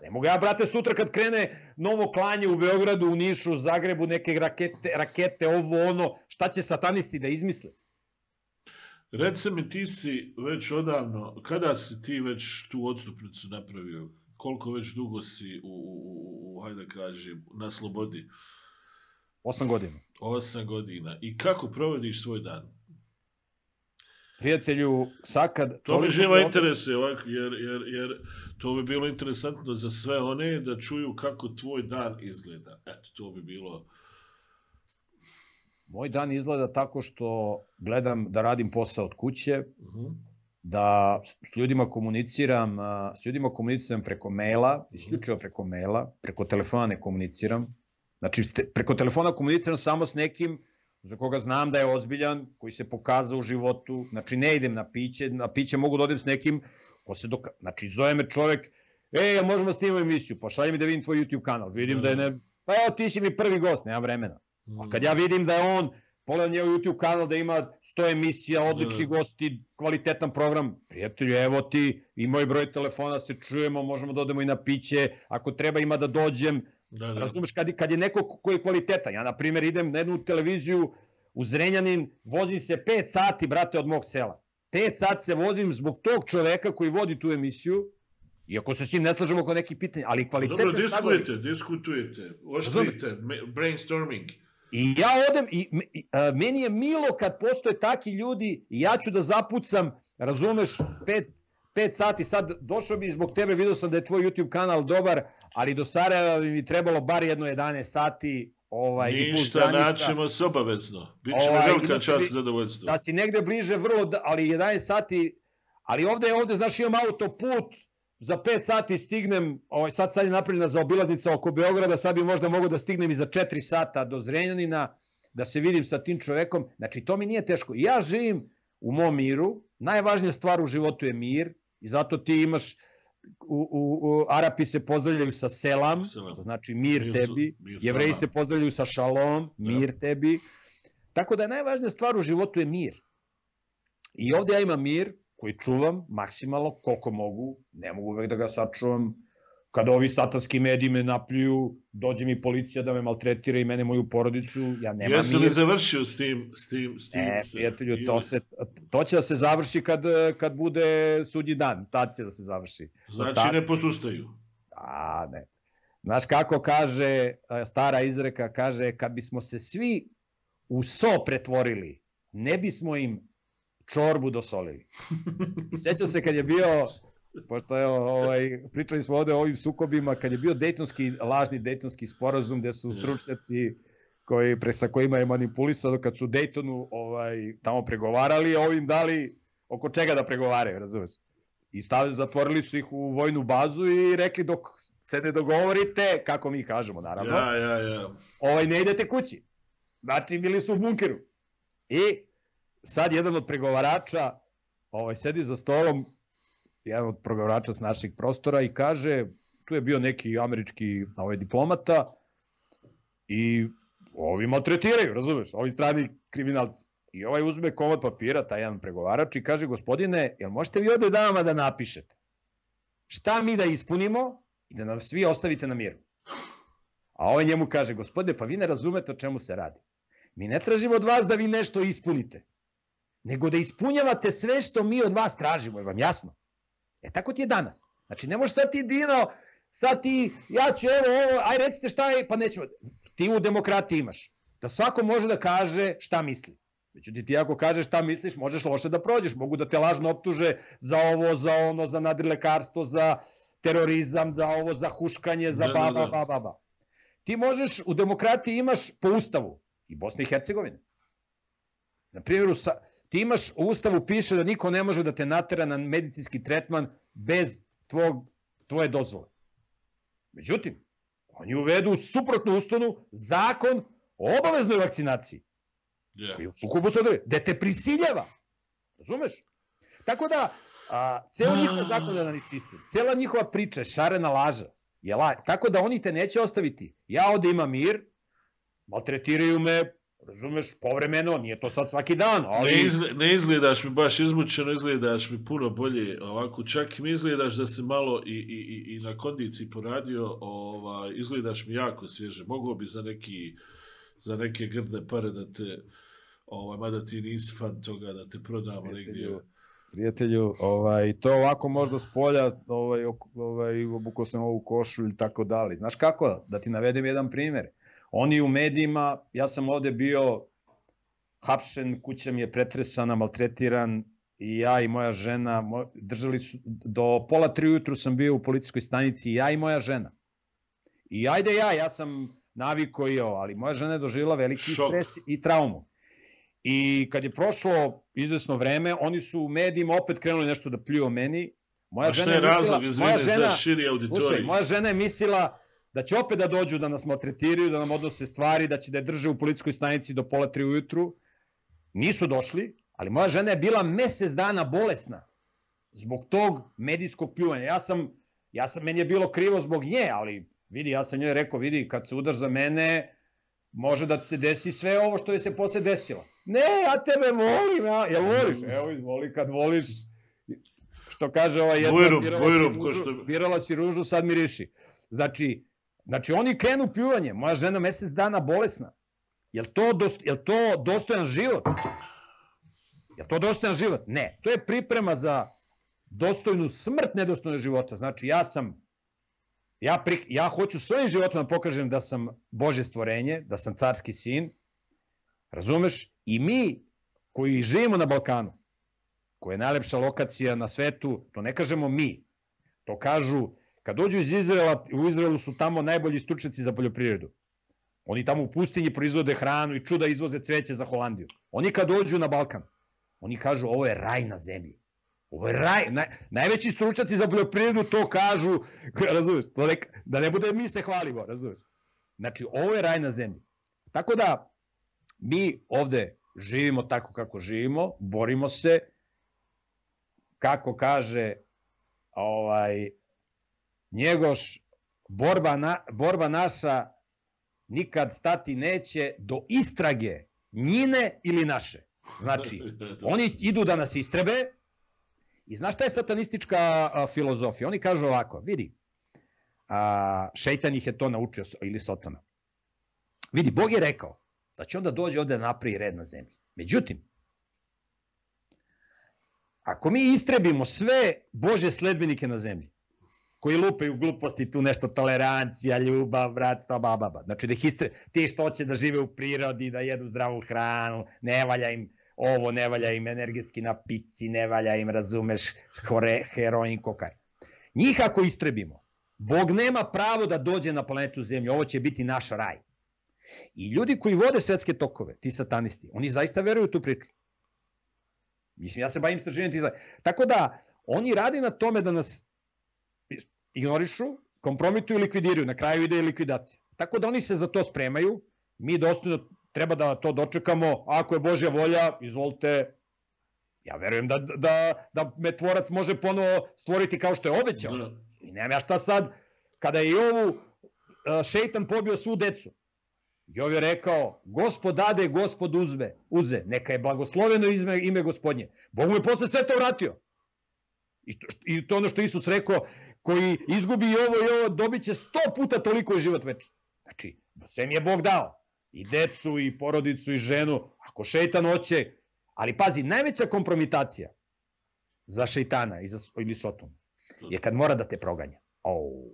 Speaker 3: Ne mogu ja, brate, sutra kad krene novo klanje u Beogradu, u Nišu, u Zagrebu, neke rakete, rakete, ovo, ono, šta će satanisti da izmisle?
Speaker 2: Reci mi, ti si već odavno, kada si ti već tu odstupnicu napravio? Koliko već dugo si u, u, u hajde kažem, na slobodi?
Speaker 3: Osam godina.
Speaker 2: Osam godina. I kako provodiš svoj dan?
Speaker 3: Prijatelju, sakad...
Speaker 2: To me živa interesuje ovako, jer, jer, jer to bi bilo interesantno za sve one da čuju kako tvoj dan izgleda. Eto, to bi bilo...
Speaker 3: Moj dan izgleda tako što gledam da radim posao od kuće,
Speaker 2: uh-huh.
Speaker 3: da s ljudima komuniciram, s ljudima komuniciram preko maila, isključivo preko maila, preko telefona ne komuniciram. Znači, preko telefona komuniciram samo s nekim za koga znam da je ozbiljan, koji se pokazao u životu. Znači, ne idem na piće, na piće mogu da odem s nekim ko se doka... Znači, zove me čovek, ej, možemo snimati emisiju, pošalji mi da vidim tvoj YouTube kanal. Vidim da je ne... Pa evo, ti si mi prvi gost, nema vremena. A kad ja vidim da je on, pogledam njegov YouTube kanal da ima sto emisija, odlični gosti, kvalitetan program, prijatelju, evo ti, i moj broj telefona, se čujemo, možemo da odemo i na piće, ako treba ima da dođem. Da, da. Razumeš, kad, kad je neko koji je kvalitetan, ja na primjer idem na jednu televiziju u Zrenjanin, vozim se pet sati, brate, od mog sela. Pet sati se vozim zbog tog čoveka koji vodi tu emisiju, iako se s njim ne slažemo oko nekih pitanja, ali kvalitetne...
Speaker 2: Dobro, diskutujete, diskutujete, oštrite, brainstorming.
Speaker 3: I ja odem, i, i a, meni je milo kad postoje taki ljudi, i ja ću da zapucam, razumeš, pet, pet sati, sad došao bi zbog tebe, vidio sam da je tvoj YouTube kanal dobar, ali do Sarajeva bi mi trebalo bar jedno jedanaest sati. Ovaj,
Speaker 2: ništa, naćemo se obavezno. Biće ovaj, velika čast, zadovoljstvo.
Speaker 3: Da si negde bliže vrlo, ali jedanaest sati, ali ovde, ovde, znaš, imam autoput, za pet sati stignem, ovaj, sad sad je napravljena zaobilaznica oko Beograda, sad bi možda mogu da stignem i za četiri sata do Zrenjanina, da se vidim sa tim čovekom. Znači, to mi nije teško. Ja živim u mom miru, najvažnija stvar u životu je mir, i zato ti imaš, u, u, u Arapi se pozdravljaju sa selam, selam. To znači mir, mir tebi, mir Jevreji se pozdravljaju sa šalom, mir ja. tebi. Tako da je najvažnija stvar u životu je mir. I ovde ja imam mir, koji čuvam maksimalno koliko mogu, ne mogu uvek da ga sačuvam. Kada ovi satanski mediji me napljuju, dođe mi policija da me maltretira i mene, moju porodicu, ja nemam mir.
Speaker 2: Jesi li završio s tim? S tim, s tim
Speaker 3: e, prijatelju, to, se, to će da se završi kad, kad bude sudnji dan, tad će da se završi.
Speaker 2: Znači tad... ne posustaju?
Speaker 3: A, ne. Znaš kako kaže, stara izreka, kaže, kad bismo se svi u so pretvorili, ne bismo im čorbu dosolili. I sećam se kad je bio, pošto je, ovaj, pričali smo ovde o ovim sukobima, kad je bio dejtonski, lažni dejtonski sporazum, gde su stručnjaci koji, pre, sa kojima je manipulisano, kad su u Dejtonu ovaj, tamo pregovarali, a ovim dali oko čega da pregovaraju, razumeš? I stavili, zatvorili su ih u vojnu bazu i rekli dok se ne dogovorite, kako mi kažemo, naravno,
Speaker 2: ja, ja, ja.
Speaker 3: Ovaj, ne idete kući. Znači, bili su u bunkeru. I sad jedan od pregovarača ovaj, sedi za stolom jedan od progovarača s naših prostora i kaže, tu je bio neki američki ovaj, diplomata i ovi maltretiraju, razumeš, ovi strani kriminalci. I ovaj uzme komad papira, taj jedan pregovarač i kaže, gospodine, jel možete vi ovde dama da napišete? Šta mi da ispunimo i da nam svi ostavite na miru? A ovaj njemu kaže, gospodine, pa vi ne razumete o čemu se radi. Mi ne tražimo od vas da vi nešto ispunite, nego da ispunjavate sve što mi od vas tražimo, je vam jasno? E tako ti je danas. Znači, ne možeš sad ti, Dino, sad ti, ja ću, evo, ovo, aj recite šta je, pa nećemo. Ti u demokratiji imaš, da svako može da kaže šta misli. Međutim, ti ako kažeš šta misliš, možeš loše da prođeš. Mogu da te lažno optuže za ovo, za ono, za nadrilekarstvo, za terorizam, za ovo, za huškanje, za baba, baba, baba. Ti možeš, u demokratiji imaš po ustavu i Bosne i Hercegovine. Na primjer, ti imaš, u ustavu piše da niko ne može da te natera na medicinski tretman bez tvog, tvoje dozvole. Međutim, oni uvedu suprotnu ustanu zakon o obaveznoj vakcinaciji. Yeah. Koji u sukobu se određuje, gde te prisiljava. Razumeš? Tako da, a, ceo njihov zakonodavni sistem, cela njihova priča je šarena laža. Je la... Tako da oni te neće ostaviti. Ja ovde imam mir, maltretiraju me, razumeš, povremeno, nije to sad svaki dan, ali...
Speaker 2: Ne, izgled, ne izgledaš mi baš izmučeno, izgledaš mi puno bolje, ovako, čak mi izgledaš da se malo i, i, i na kondiciji poradio, ovaj, izgledaš mi jako svježe, moglo bi za neki, za neke grdne pare da te, ovaj, mada ti nisi fan toga, da te prodamo negdje.
Speaker 3: Prijatelju, ovaj, to ovako možda s polja, ovaj, ovaj, obukao sam ovu košu ili tako dalje. Znaš kako? Da ti navedem jedan primjer. Oni u medijima, ja sam ovde bio hapšen, kuća mi je pretresana, maltretiran i ja i moja žena, držali su, do pola tri ujutru sam bio u policijskoj stanici, ja i moja žena. I ajde ja, ja sam naviko i ovo, ali moja žena je doživjela veliki Šok. stres i traumu. I kad je prošlo izvesno vreme, oni su u medijima opet krenuli nešto da pljuju o meni. Moja žena je
Speaker 2: razlog, mislila, moja žena, za širi auditorij? Slušaj,
Speaker 3: moja žena je mislila da će opet da dođu da nas maltretiraju, da nam odnose stvari, da će da je drže u policijskoj stanici do pola tri ujutru. Nisu došli, ali moja žena je bila mesec dana bolesna zbog tog medijskog pljuvanja. Ja sam, ja sam, meni je bilo krivo zbog nje, ali vidi, ja sam njoj rekao, vidi, kad se udaš za mene, može da se desi sve ovo što je se posle desilo. Ne, ja tebe volim, ja, jel voliš? Evo, izvoli, kad voliš, što kaže ova jedna,
Speaker 2: Bujrum,
Speaker 3: birala,
Speaker 2: bujrum,
Speaker 3: si ružu,
Speaker 2: što...
Speaker 3: birala si ružu, sad miriši. Znači, znači oni krenu pljuvanje, moja žena mesec dana bolesna. Jel to, dost, jel to dostojan život? Jel to dostojan život? Ne, to je priprema za dostojnu smrt nedostojnog života. Znači, ja sam, ja, pri, ja hoću svojim životom da pokažem da sam Božje stvorenje, da sam carski sin, razumeš? I mi koji živimo na Balkanu, koja je najlepša lokacija na svetu, to ne kažemo mi, to kažu, kad dođu iz Izraela, u Izraelu su tamo najbolji stručnjaci za poljoprivredu. Oni tamo u pustinji proizvode hranu i čuda izvoze cveće za Holandiju. Oni kad dođu na Balkan, oni kažu ovo je raj na zemlji. Ovo je raj. Naj, najveći stručnjaci za poljoprivredu to kažu, razumeš, to ne, da ne bude mi se hvalimo, razumeš. Znači, ovo je raj na zemlji. Tako da, mi ovde živimo tako kako živimo, borimo se, kako kaže ovaj, Njegoš, borba, na, borba naša nikad stati neće do istrage njine ili naše. Znači, oni idu da nas istrebe i znaš šta je satanistička a, filozofija? Oni kažu ovako, vidi, a, šeitan ih je to naučio, ili Satana. Vidi, Bog je rekao da će onda dođe ovde da napravi red na zemlji. Međutim, ako mi istrebimo sve Božje sledbenike na zemlji, koji lupaju gluposti, tu nešto tolerancija, ljubav, bratstva, bababa. Znači da ih istre... ti što hoće da žive u prirodi, da jedu zdravu hranu, ne valja im ovo, ne valja im energetski napici, ne valja im, razumeš, hore, heroin, kokar. Njih ako istrebimo, Bog nema pravo da dođe na planetu Zemlju, ovo će biti naš raj. I ljudi koji vode svetske tokove, ti satanisti, oni zaista veruju u tu priču. Mislim, ja se bavim istraživanjem ti zaista. Tako da, oni radi na tome da nas ignorišu, kompromituju i likvidiraju. Na kraju ide i likvidacija. Tako da oni se za to spremaju. Mi dostojno treba da to dočekamo. Ako je Božja volja, izvolite, Ja verujem da, da, da me tvorac može ponovo stvoriti kao što je obećao. Da. I nemam ja šta sad, kada je Jovu šeitan pobio svu decu, Jov je rekao, gospod dade, gospod uzme, uze, neka je blagosloveno ime, ime gospodnje. Bog mu je posle sve to vratio. I to, I to ono što Isus rekao, koji izgubi i ovo i ovo, dobit će sto puta toliko i život večni. Znači, sve mi je Bog dao. I decu, i porodicu, i ženu. Ako šeitan hoće, ali pazi, najveća kompromitacija za šeitana i za, ili Sotonu je kad mora da te proganja. Oh.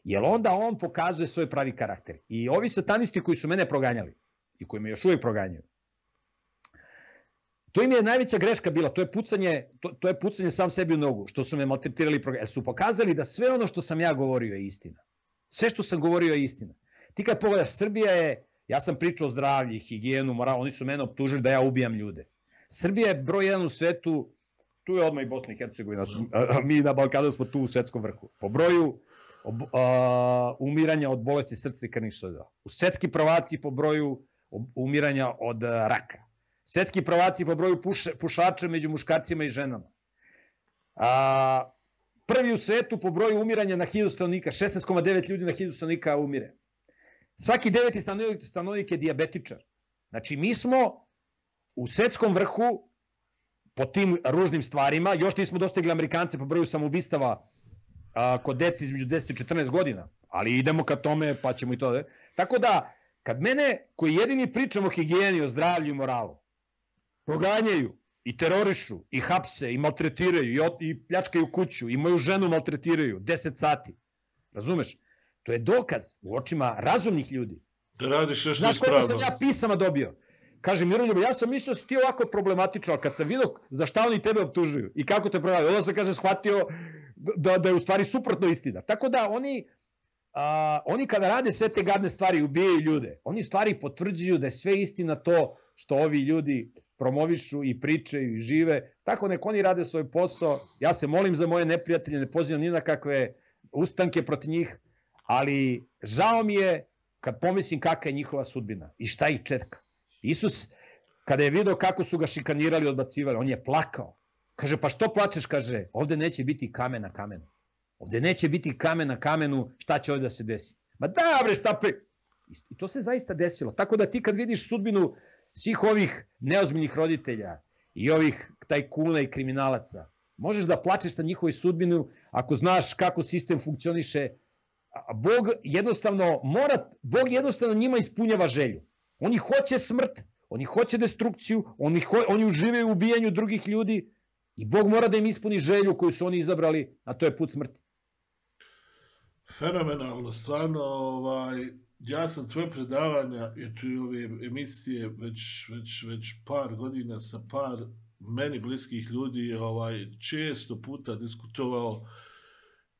Speaker 3: Jer onda on pokazuje svoj pravi karakter. I ovi satanisti koji su mene proganjali i koji me još uvijek proganjaju, to im je najveća greška bila, to je pucanje, to, to je pucanje sam sebi u nogu, što su me maltretirali i proganjali. Jer su pokazali da sve ono što sam ja govorio je istina. Sve što sam govorio je istina. Ti kad pogledaš, Srbija je, ja sam pričao o zdravlju, higijenu, moral, oni su mene optužili da ja ubijam ljude. Srbija je broj jedan u svetu, tu je odmah i Bosna i Hercegovina, a mi na Balkanu smo tu u svetskom vrhu. Po broju ob, a, umiranja od bolesti srca i krvnih sudova. U svetski prvaci po broju umiranja od a, raka. Svetski prvaci po broju puš, pušača među muškarcima i ženama. A, prvi u svetu po broju umiranja na hiljadu stanovnika, šesnaest zarez devet ljudi na hiljadu stanovnika umire. Svaki deveti stanovnik, stanovnik je dijabetičar. Znači mi smo u svetskom vrhu po tim ružnim stvarima, još nismo dostigli Amerikance po broju samoubistava a, kod deci između deset i četrnaest godina, ali idemo ka tome pa ćemo i to da. Tako da, kad mene, koji jedini pričam o higijeni, o zdravlju i moralu, proganjaju i terorišu i hapse i maltretiraju i, ot, i pljačkaju kuću i moju ženu maltretiraju deset sati, razumeš? To je dokaz u očima razumnih ljudi.
Speaker 2: Da radiš nešto
Speaker 3: ispravno. Znaš koliko sam ja pisama dobio? Kaže, Miroljub, ja sam mislio da si ti ovako problematično, ali kad sam vidio za šta oni tebe optužuju i kako te prodaju, onda sam, kaže, shvatio da, da je u stvari suprotno istina. Tako da oni, a, oni kada rade sve te gadne stvari, ubijaju ljude, oni stvari potvrđuju da je sve istina to što ovi ljudi promovišu i pričaju i žive. Tako nek oni rade svoj posao. Ja se molim za moje neprijatelje, ne pozivam ni na kakve ustanke protiv njih, ali žao mi je kad pomislim kakva je njihova sudbina i šta ih čeka. Isus, kada je vidio kako su ga šikanirali i odbacivali, on je plakao. Kaže, pa što plačeš? Kaže, ovde neće biti kamen na kamenu. Ovde neće biti kamen na kamenu, šta će ovde da se desi? Ma da, bre, šta pe... I to se zaista desilo. Tako da ti kad vidiš sudbinu svih ovih neozbiljnih roditelja i ovih tajkuna i kriminalaca, možeš da plačeš na njihovoj sudbinu ako znaš kako sistem funkcioniše. Bog jednostavno mora, Bog jednostavno njima ispunjava želju. Oni hoće smrt, oni hoće destrukciju, oni, ho, oni uživaju u ubijanju drugih ljudi i Bog mora da im ispuni želju koju su oni izabrali, a to je put smrti.
Speaker 2: Fenomenalno, stvarno, ovaj, ja sam tvoje predavanja i tu ove emisije već, već, već par godina sa par meni bliskih ljudi ovaj, često puta diskutovao.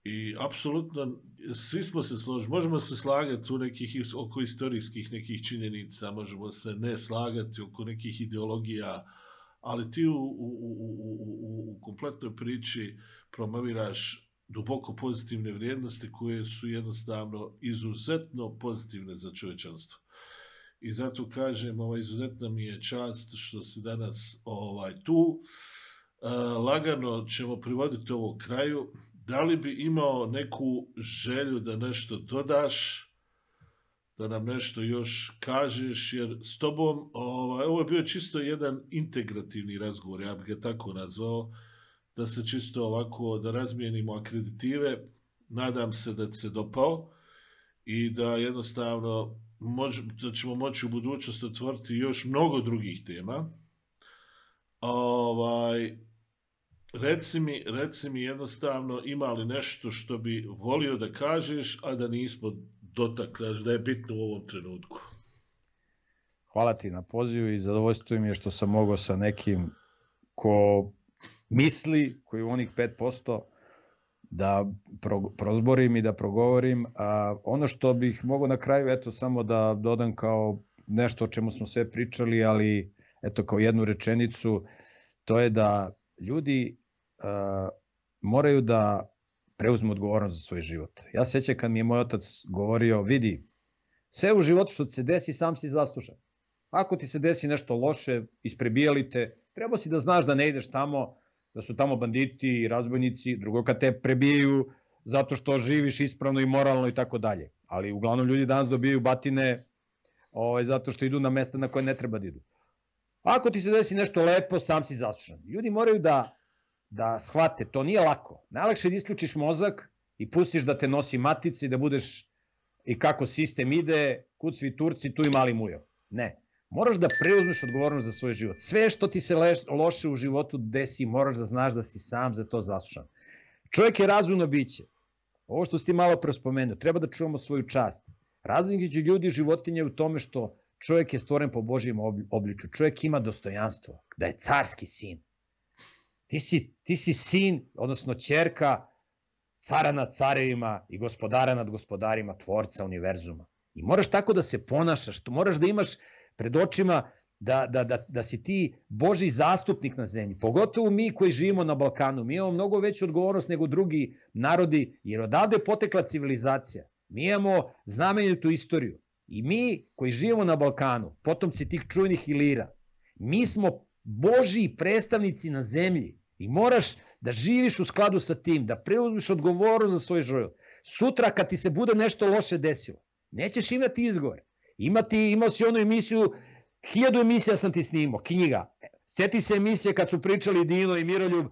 Speaker 2: I apsolutno svi smo se složili, možemo se slagati u nekih, oko istorijskih nekih činjenica, možemo se ne slagati oko nekih ideologija, ali ti u, u, u, u, u kompletnoj priči promoviraš duboko pozitivne vrijednosti koje su jednostavno izuzetno pozitivne za čovječanstvo. I zato kažem, ovaj, izuzetna mi je čast što si danas ovaj, tu. E, lagano ćemo privoditi ovo kraju. Da li bi imao neku želju da nešto dodaš, da nam nešto još kažeš, jer s tobom, ovaj, ovo je bio čisto jedan integrativni razgovor, ja bih ga tako nazvao, da se čisto ovako, da razmijenimo akreditive, nadam se da ti se dopao i da jednostavno moć, da ćemo moći u budućnosti otvoriti još mnogo drugih tema. Ovaj... Reci mi, reci mi jednostavno, ima li nešto što bi volio da kažeš, a da nismo dotakli, da je bitno u ovom trenutku?
Speaker 3: Hvala ti na pozivu i zadovoljstvo mi je što sam mogao sa nekim ko misli, koji u onih pet posto, da pro, prozborim i da progovorim. A ono što bih mogao na kraju, eto, samo da dodam kao nešto o čemu smo sve pričali, ali eto, kao jednu rečenicu, to je da ljudi uh, moraju da preuzmu odgovornost za svoj život. Ja se sjećam kad mi je moj otac govorio, vidi, sve u životu što ti se desi, sam si zaslužan. Ako ti se desi nešto loše, isprebijali te, Trebao si da znaš da ne ideš tamo, da su tamo banditi i razbojnici, drugo kad te prebijaju zato što živiš ispravno i moralno i tako dalje. Ali uglavnom ljudi danas dobijaju batine ovaj, zato što idu na mesta na koje ne treba da idu. Ako ti se desi nešto lepo, sam si zaslužan. Ljudi moraju da, da shvate, to nije lako. Najlakše je da isključiš mozak i pustiš da te nosi matica i da budeš i kako sistem ide, kud svi Turci, tu i mali mujo. Ne. Moraš da preuzmeš odgovornost za svoj život. Sve što ti se loše u životu desi, moraš da znaš da si sam za to zaslužan. Čovjek je razumno biće. Ovo što si ti malo pre spomenuo, treba da čuvamo svoju čast. Razlika između ljudi i životinja je u tome što čovjek je stvoren po Božjem obličju. Čovjek ima dostojanstvo, da je carski sin. Ti si, ti si sin, odnosno ćerka cara nad carevima i gospodara nad gospodarima, tvorca univerzuma. I moraš tako da se ponašaš, moraš da imaš pred očima da, da, da, da si ti Božji zastupnik na zemlji. Pogotovo mi koji živimo na Balkanu. Mi imamo mnogo veću odgovornost nego drugi narodi, jer odavde je potekla civilizacija. Mi imamo znamenitu istoriju. I mi koji živimo na Balkanu, potomci tih čujnih Ilira, mi smo Božji predstavnici na zemlji. I moraš da živiš u skladu sa tim, da preuzmiš odgovornost za svoj život. Sutra kad ti se bude nešto loše desilo, nećeš imati izgovor. Imati, imao si onu emisiju, hiljadu emisija sam ti snimao, knjiga. Sjeti se emisije kad su pričali Dino i Miroljub,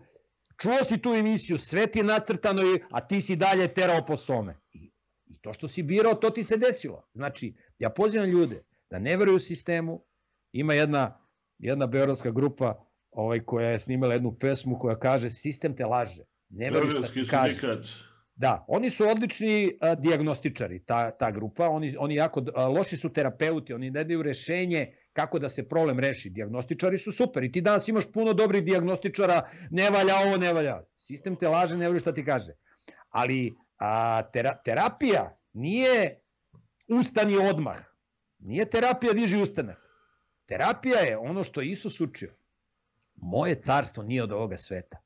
Speaker 3: čuo si tu emisiju, sve ti je nacrtano, a ti si dalje terao po some. I, i to što si birao, to ti se desilo. Znači, ja pozivam ljude da ne veruju sistemu. Ima jedna, jedna beogradska grupa ovaj, koja je snimala jednu pesmu koja kaže sistem te laže. Ne veruju šta ti kaže. Da, oni su odlični a, dijagnostičari, ta, ta grupa, oni, oni jako a, loši su terapeuti, oni ne daju rešenje kako da se problem reši. Dijagnostičari su super i ti danas imaš puno dobrih dijagnostičara, ne valja ovo, ne valja. Sistem te laže, ne veruju šta ti kaže. Ali a, tera, terapija nije ustani odmah. Nije terapija diži ustanak. Terapija je ono što je Isus učio. Moje carstvo nije od ovoga sveta.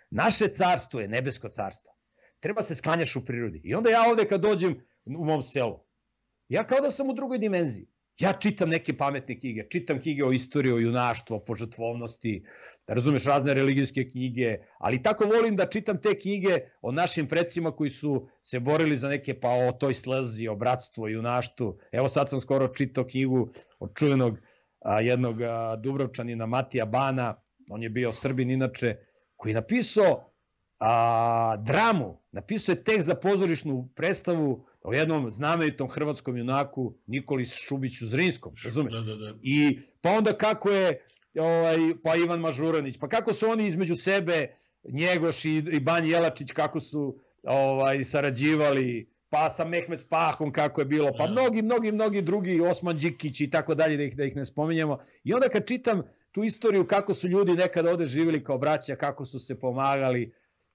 Speaker 3: Naše carstvo je nebesko carstvo. Treba se sklanjaš u prirodi. I onda ja ovde kad dođem u mom selu, ja kao da sam u drugoj dimenziji. Ja čitam neke pametne knjige, čitam knjige o istoriji, o junaštvu, o požrtvovnosti, da razumeš razne religijske knjige, ali tako volim da čitam te knjige o našim predsima koji su se borili za neke, pa o toj slezi, o bratstvu, o junaštvu. Evo sad sam skoro čitao knjigu od čuvenog a, jednog a, Dubrovčanina Matija Bana, on je bio Srbin inače, koji je napisao a, dramu, napisao je tekst za pozorišnu predstavu o jednom znamenitom hrvatskom junaku Nikoli Šubiću Zrinskom, razumeš?
Speaker 2: Da, da, da.
Speaker 3: I pa onda kako je ovaj, pa Ivan Mažuranić, pa kako su oni između sebe, Njegoš i, i Banji Jelačić, kako su ovaj, sarađivali, pa sa Mehmet Spahom kako je bilo, pa mnogi, mnogi, mnogi drugi, Osman Đikić i tako dalje, da ih, da ih ne spominjemo. I onda kad čitam tu istoriju kako su ljudi nekada ovde živjeli kao braća, kako su se pomagali,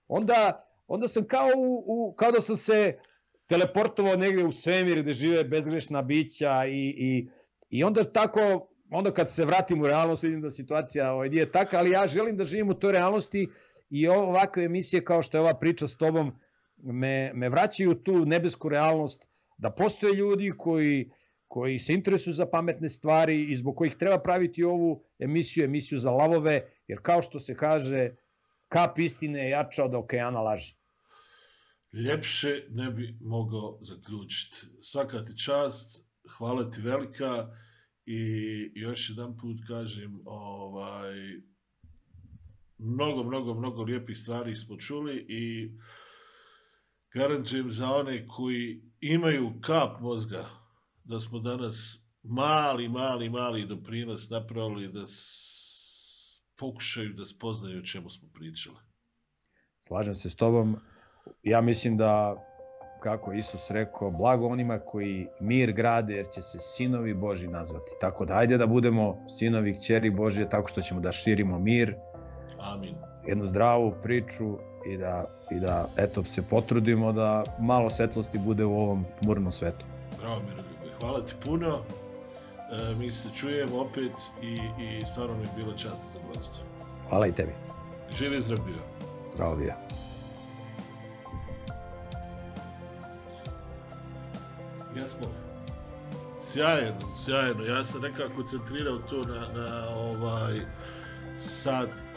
Speaker 3: onda, onda sam kao, u, u, kao da sam se teleportovao negde u svemir gde žive bezgrešna bića i, i, i onda tako, onda kad se vratim u realnost vidim da situacija ovaj, nije taka, ali ja želim da živim u toj realnosti i ovakve emisije kao što je ova priča s tobom me, me vraćaju tu nebesku realnost, da postoje ljudi koji, koji se interesuju za pametne stvari i zbog kojih treba praviti ovu emisiju, emisiju za lavove, jer kao što se kaže, kap istine je jača od okeana laži.
Speaker 2: Ljepše ne bi mogao zaključiti. Svaka ti čast, hvala ti velika i još jedan put kažem, ovaj, mnogo, mnogo, mnogo lijepih stvari smo čuli i garantujem za one koji imaju kap mozga da smo danas mali, mali, mali doprinos napravili da pokušaju da spoznaju o čemu smo pričali.
Speaker 3: Slažem se s tobom. Ja mislim da, kako Isus rekao, blago onima koji mir grade, jer će se sinovi Božji nazvati. Tako da, ajde da budemo sinovi kćeri Božje, tako što ćemo da širimo mir,
Speaker 2: Amin.
Speaker 3: Jednu zdravu priču i da, i da eto, se potrudimo da malo svetlosti bude u ovom tmurnom svetu.
Speaker 2: Bravo, Miroljube. Hvala ti puno. E, mi se čujemo opet i, i stvarno mi je bilo čast za zadovoljstvo.
Speaker 3: Hvala i tebi.
Speaker 2: Živi zdrav bio.
Speaker 3: Zdravo bio.
Speaker 2: Ja smo sjajno, sjajno. Ja sam nekako koncentrirao to na, na ovaj sad